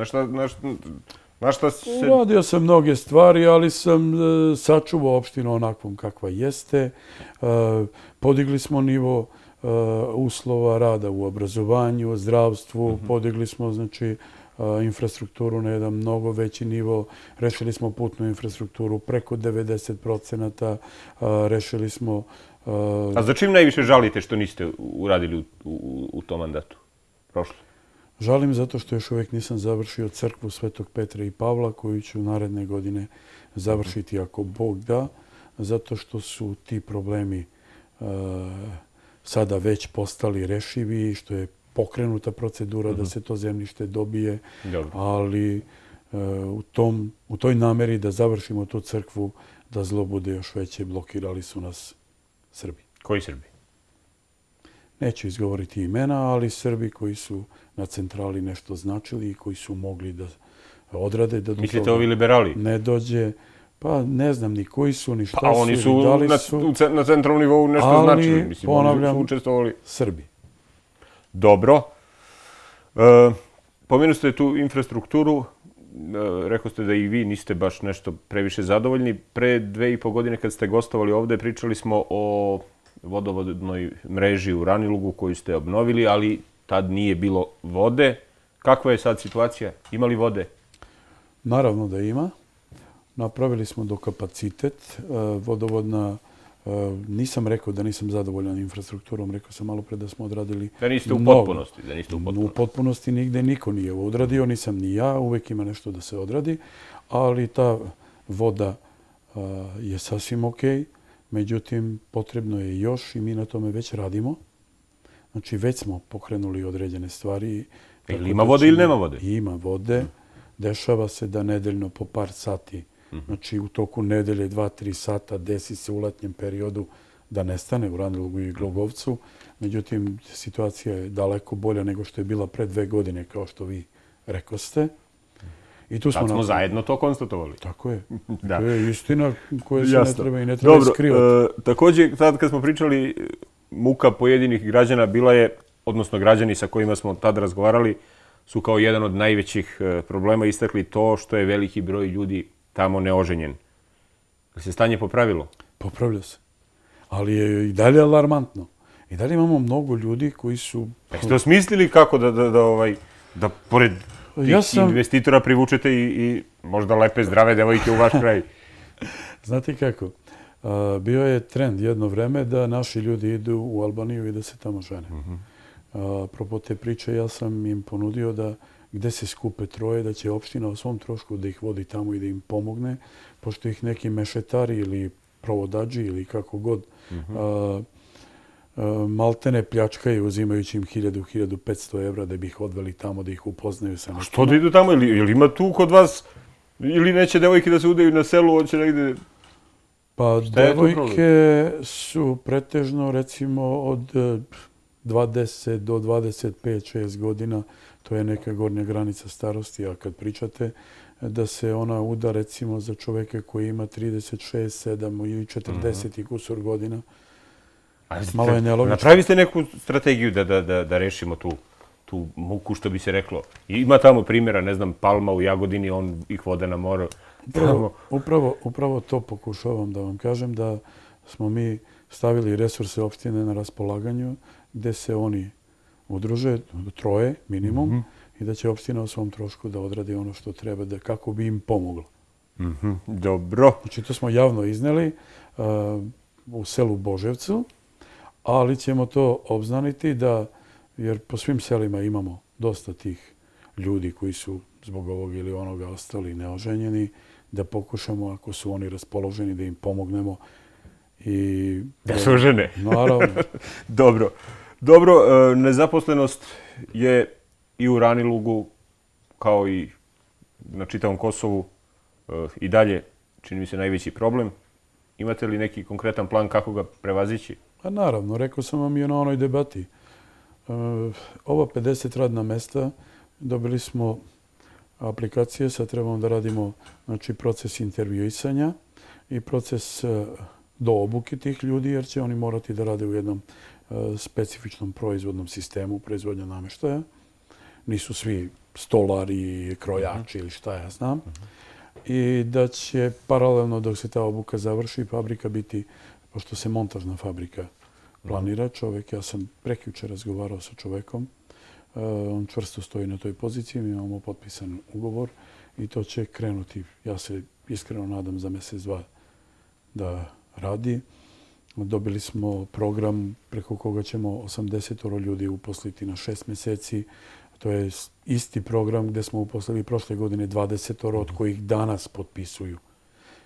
na šta se... Uradio sam mnoge stvari, ali sam sačuvao opštinu onakvom kakva jeste. Podigli smo nivo uslova rada u obrazovanju, zdravstvu, podigli smo, znači, infrastrukturu na jedan mnogo veći nivo, rešili smo putnu infrastrukturu preko 90%, rešili smo... A za čim najviše žalite što niste uradili u tom mandatu? Prošlo? Žalim zato što još uvijek nisam završio crkvu Svetog Petra i Pavla, koju ću naredne godine završiti ako Bog da, zato što su ti problemi sada već postali rešivi, što je pokrenuta procedura da se to zemljište dobije, ali u toj nameri da završimo tu crkvu, da zlo bude još veće, blokirali su nas Srbi. Koji Srbi? Neću izgovoriti imena, ali Srbi koji su na centrali nešto značili i koji su mogli da odrade. Da mislite ovi liberali? Ne dođe. Pa ne znam ni koji su, ni šta su. Pa oni su na centralnom nivou nešto značili. Ali, ponavljam, Srbi. Dobro. Pomenu ste tu infrastrukturu. Rekao ste da i vi niste baš nešto previše zadovoljni. Pre 2,5 godine kad ste gostovali ovde, pričali smo o vodovodnoj mreži u Ranilugu koju ste obnovili, ali tad nije bilo vode. Kakva je sad situacija? Ima li vode? Naravno da ima. Napravili smo do kapacitet. Vodovodna, nisam rekao da nisam zadovoljan infrastrukturom, rekao sam malo pre da smo odradili da niste u potpunosti. U potpunosti nigde niko nije odradio, nisam ni ja, uvek ima nešto da se odradi, ali ta voda je sasvim okej. Međutim, potrebno je još i mi na tome već radimo. Znači, već smo pokrenuli određene stvari. Ili ima vode ili nema vode? Ima vode. Dešava se da nedeljno po par sati, znači u toku nedelje 2-3 sata desi se u letnjem periodu da nestane u Ranilugu i Glogovcu. Međutim, situacija je daleko bolja nego što je bila pre 2 godine, kao što vi rekoste. Tad smo zajedno to konstatovali. Tako je. To je istina koja se ne treba i ne treba skrivati. Dobro, također, tad kad smo pričali, muka pojedinih građana bila je, odnosno građani sa kojima smo tad razgovarali, su kao jedan od najvećih problema istakli to što je veliki broj ljudi tamo neoženjen. Je se stanje popravilo? Popravlja se. Ali je i dalje alarmantno. I dalje imamo mnogo ljudi koji su... Jeste osmislili kako da pored tih investitora privučete i možda lepe, zdrave devojke u vaš kraj? Znate kako? Bio je trend jedno vreme da naši ljudi idu u Albaniju i da se tamo žene. Apropo te priče, ja sam im ponudio da gde se skupe troje, da će opština o svom trošku da ih vodi tamo i da im pomogne, pošto ih neki mešetari ili provodađi ili kako god maltene pljačkaju uzimajući im 1000-1500 evra da bi ih odveli tamo, da ih upoznaju sa nekim. Što da idu tamo? Ili ima tu kod vas, ili neće devojke da se udaju na selu, hoće negde... Pa devojke su pretežno recimo od 20 do 25-6 godina, to je neka gornja granica starosti, a kad pričate da se ona uda recimo za čoveka koji ima 36, 7 ili 40 i kusur godina, malo je nelogično. Napravili ste neku strategiju da rešimo tu muku, što bi se reklo. Ima tamo primjera, ne znam, Palma u Jagodini, on ih vode na more. Upravo to pokušavam da vam kažem, da smo mi stavili resurse opštine na raspolaganju, gde se oni udruže, troje minimum, i da će opština o svom trošku da odradi ono što treba, da kako bi im pomoglo. Dobro. Znači, to smo javno izneli u selu Boževcu, ali ćemo to obznaniti da, jer po svim selima imamo dosta tih ljudi koji su zbog ovog ili onoga ostali neoženjeni, da pokušamo, ako su oni raspoloženi, da im pomognemo. Da se ožene. Naravno. Dobro, nezaposlenost je i u Ranilugu, kao i na čitavom Kosovu, i dalje, čini mi se, najveći problem. Imate li neki konkretan plan kako ga prevazići? Pa naravno, rekao sam vam i na onoj debati. Ova 50 radna mesta, dobili smo aplikacije, sad trebamo da radimo proces intervjuisanja i proces do obuke tih ljudi, jer će oni morati da rade u jednom specifičnom proizvodnom sistemu proizvodnja nameštaja. Nisu svi stolari, krojači ili šta ja znam. I da će paralelno dok se ta obuka završi fabrika biti, pošto se montažna fabrika planira, čovek, ja sam prekjuče razgovarao sa čovekom, on čvrsto stoji na toj poziciji, mi imamo potpisan ugovor i to će krenuti, ja se iskreno nadam za mjesec, 2 da radi. Dobili smo program preko koga ćemo 80 ljudi uposliti na 6 mjeseci. To je isti program gde smo uposlili prošle godine 20 od kojih danas potpisuju.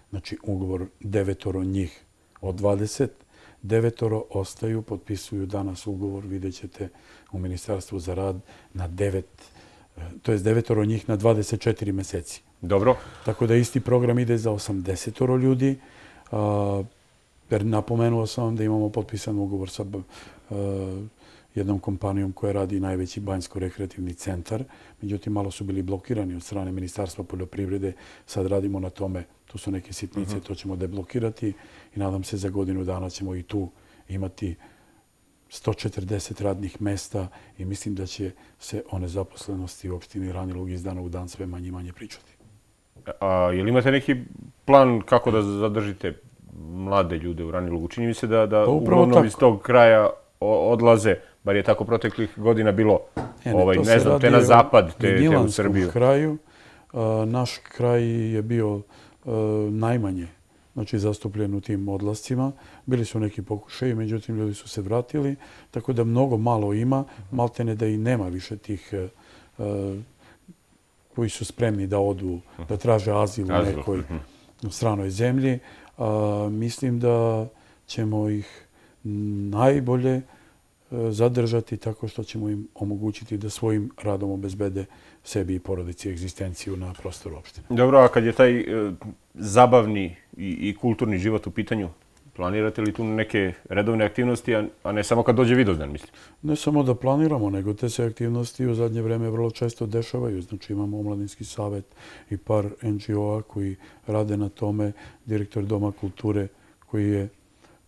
Znači, ugovor 9 njih od 20, 9 ostaju, potpisuju danas ugovor, vidjet ćete u Ministarstvu za rad na 9, to je 9 njih na 24 meseci. Dobro. Tako da isti program ide za 80 ljudi. Jer napomenuo sam vam da imamo potpisan ugovor sa jednom kompanijom koja radi najveći banjsko-rekreativni centar. Međutim, malo su bili blokirani od strane Ministarstva poljoprivrede. Sad radimo na tome. Tu su neke sitnice, to ćemo deblokirati i nadam se za godinu dana ćemo i tu imati 140 radnih mesta i mislim da će se o nezaposlenosti u opštini Ranilug iz dana u dan sve manje i manje pričati. Je li imate neki plan kako da zadržite mlade ljude u Ranilugu? Čini mi se da uglavnom iz tog kraja odlaze, bar je tako proteklih godina bilo, ne znam, te na zapad, te u Srbiju. Kraju. Naš kraj je bio najmanje zastupljen u tim odlascima. Bili su neki pokušaji, međutim ljudi su se vratili, tako da mnogo malo ima, maltene da i nema više tih koji su spremni da odu, da traže azil u nekoj stranoj zemlji. Mislim da ćemo ih najbolje zadržati tako što ćemo im omogućiti da svojim radom obezbede sebi i porodici egzistenciju na prostoru opštine. Dobro, a kad je taj zabavni i kulturni život u pitanju, planirate li tu neke redovne aktivnosti, a ne samo kad dođe Vidovdan, mislim? Ne samo da planiramo, nego te se aktivnosti u zadnje vreme vrlo često dešavaju. Znači imamo Omladinski savet i par NGO-a koji rade na tome, direktor Doma kulture koji je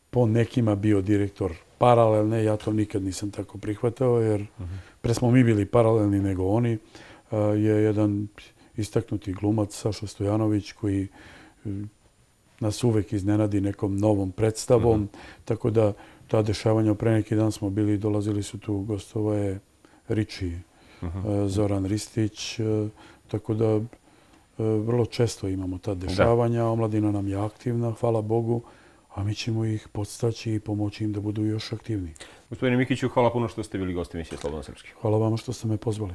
po nekima bio direktor paralelne, ja to nikad nisam tako prihvatao, jer pre smo mi bili paralelni nego oni, je jedan istaknuti glumac Saša Stojanović koji nas uvek iznenadi nekom novom predstavom, tako da ta dešavanja, pre neki dan smo bili, dolazili su tu gostove Riči, Zoran Ristić, tako da vrlo često imamo ta dešavanja, omladina nam je aktivna, hvala Bogu, a mi ćemo ih podstaći i pomoći im da budu još aktivniji. Gospodine Mikiću, hvala puno što ste bili gost emisije Slobodno srpski. Hvala vama što ste me pozvali.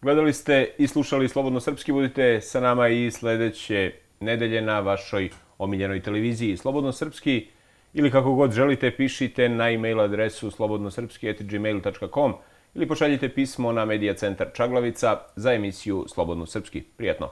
Gledali ste i slušali Slobodno srpski, budite sa nama i sledeće nedelje na vašoj omiljenoj televiziji Slobodno srpski ili kako god želite, pišite na e-mail adresu slobodnosrpski@gmail.com ili pošaljite pismo na Medija centar Čaglavica za emisiju Slobodno srpski. Prijatno!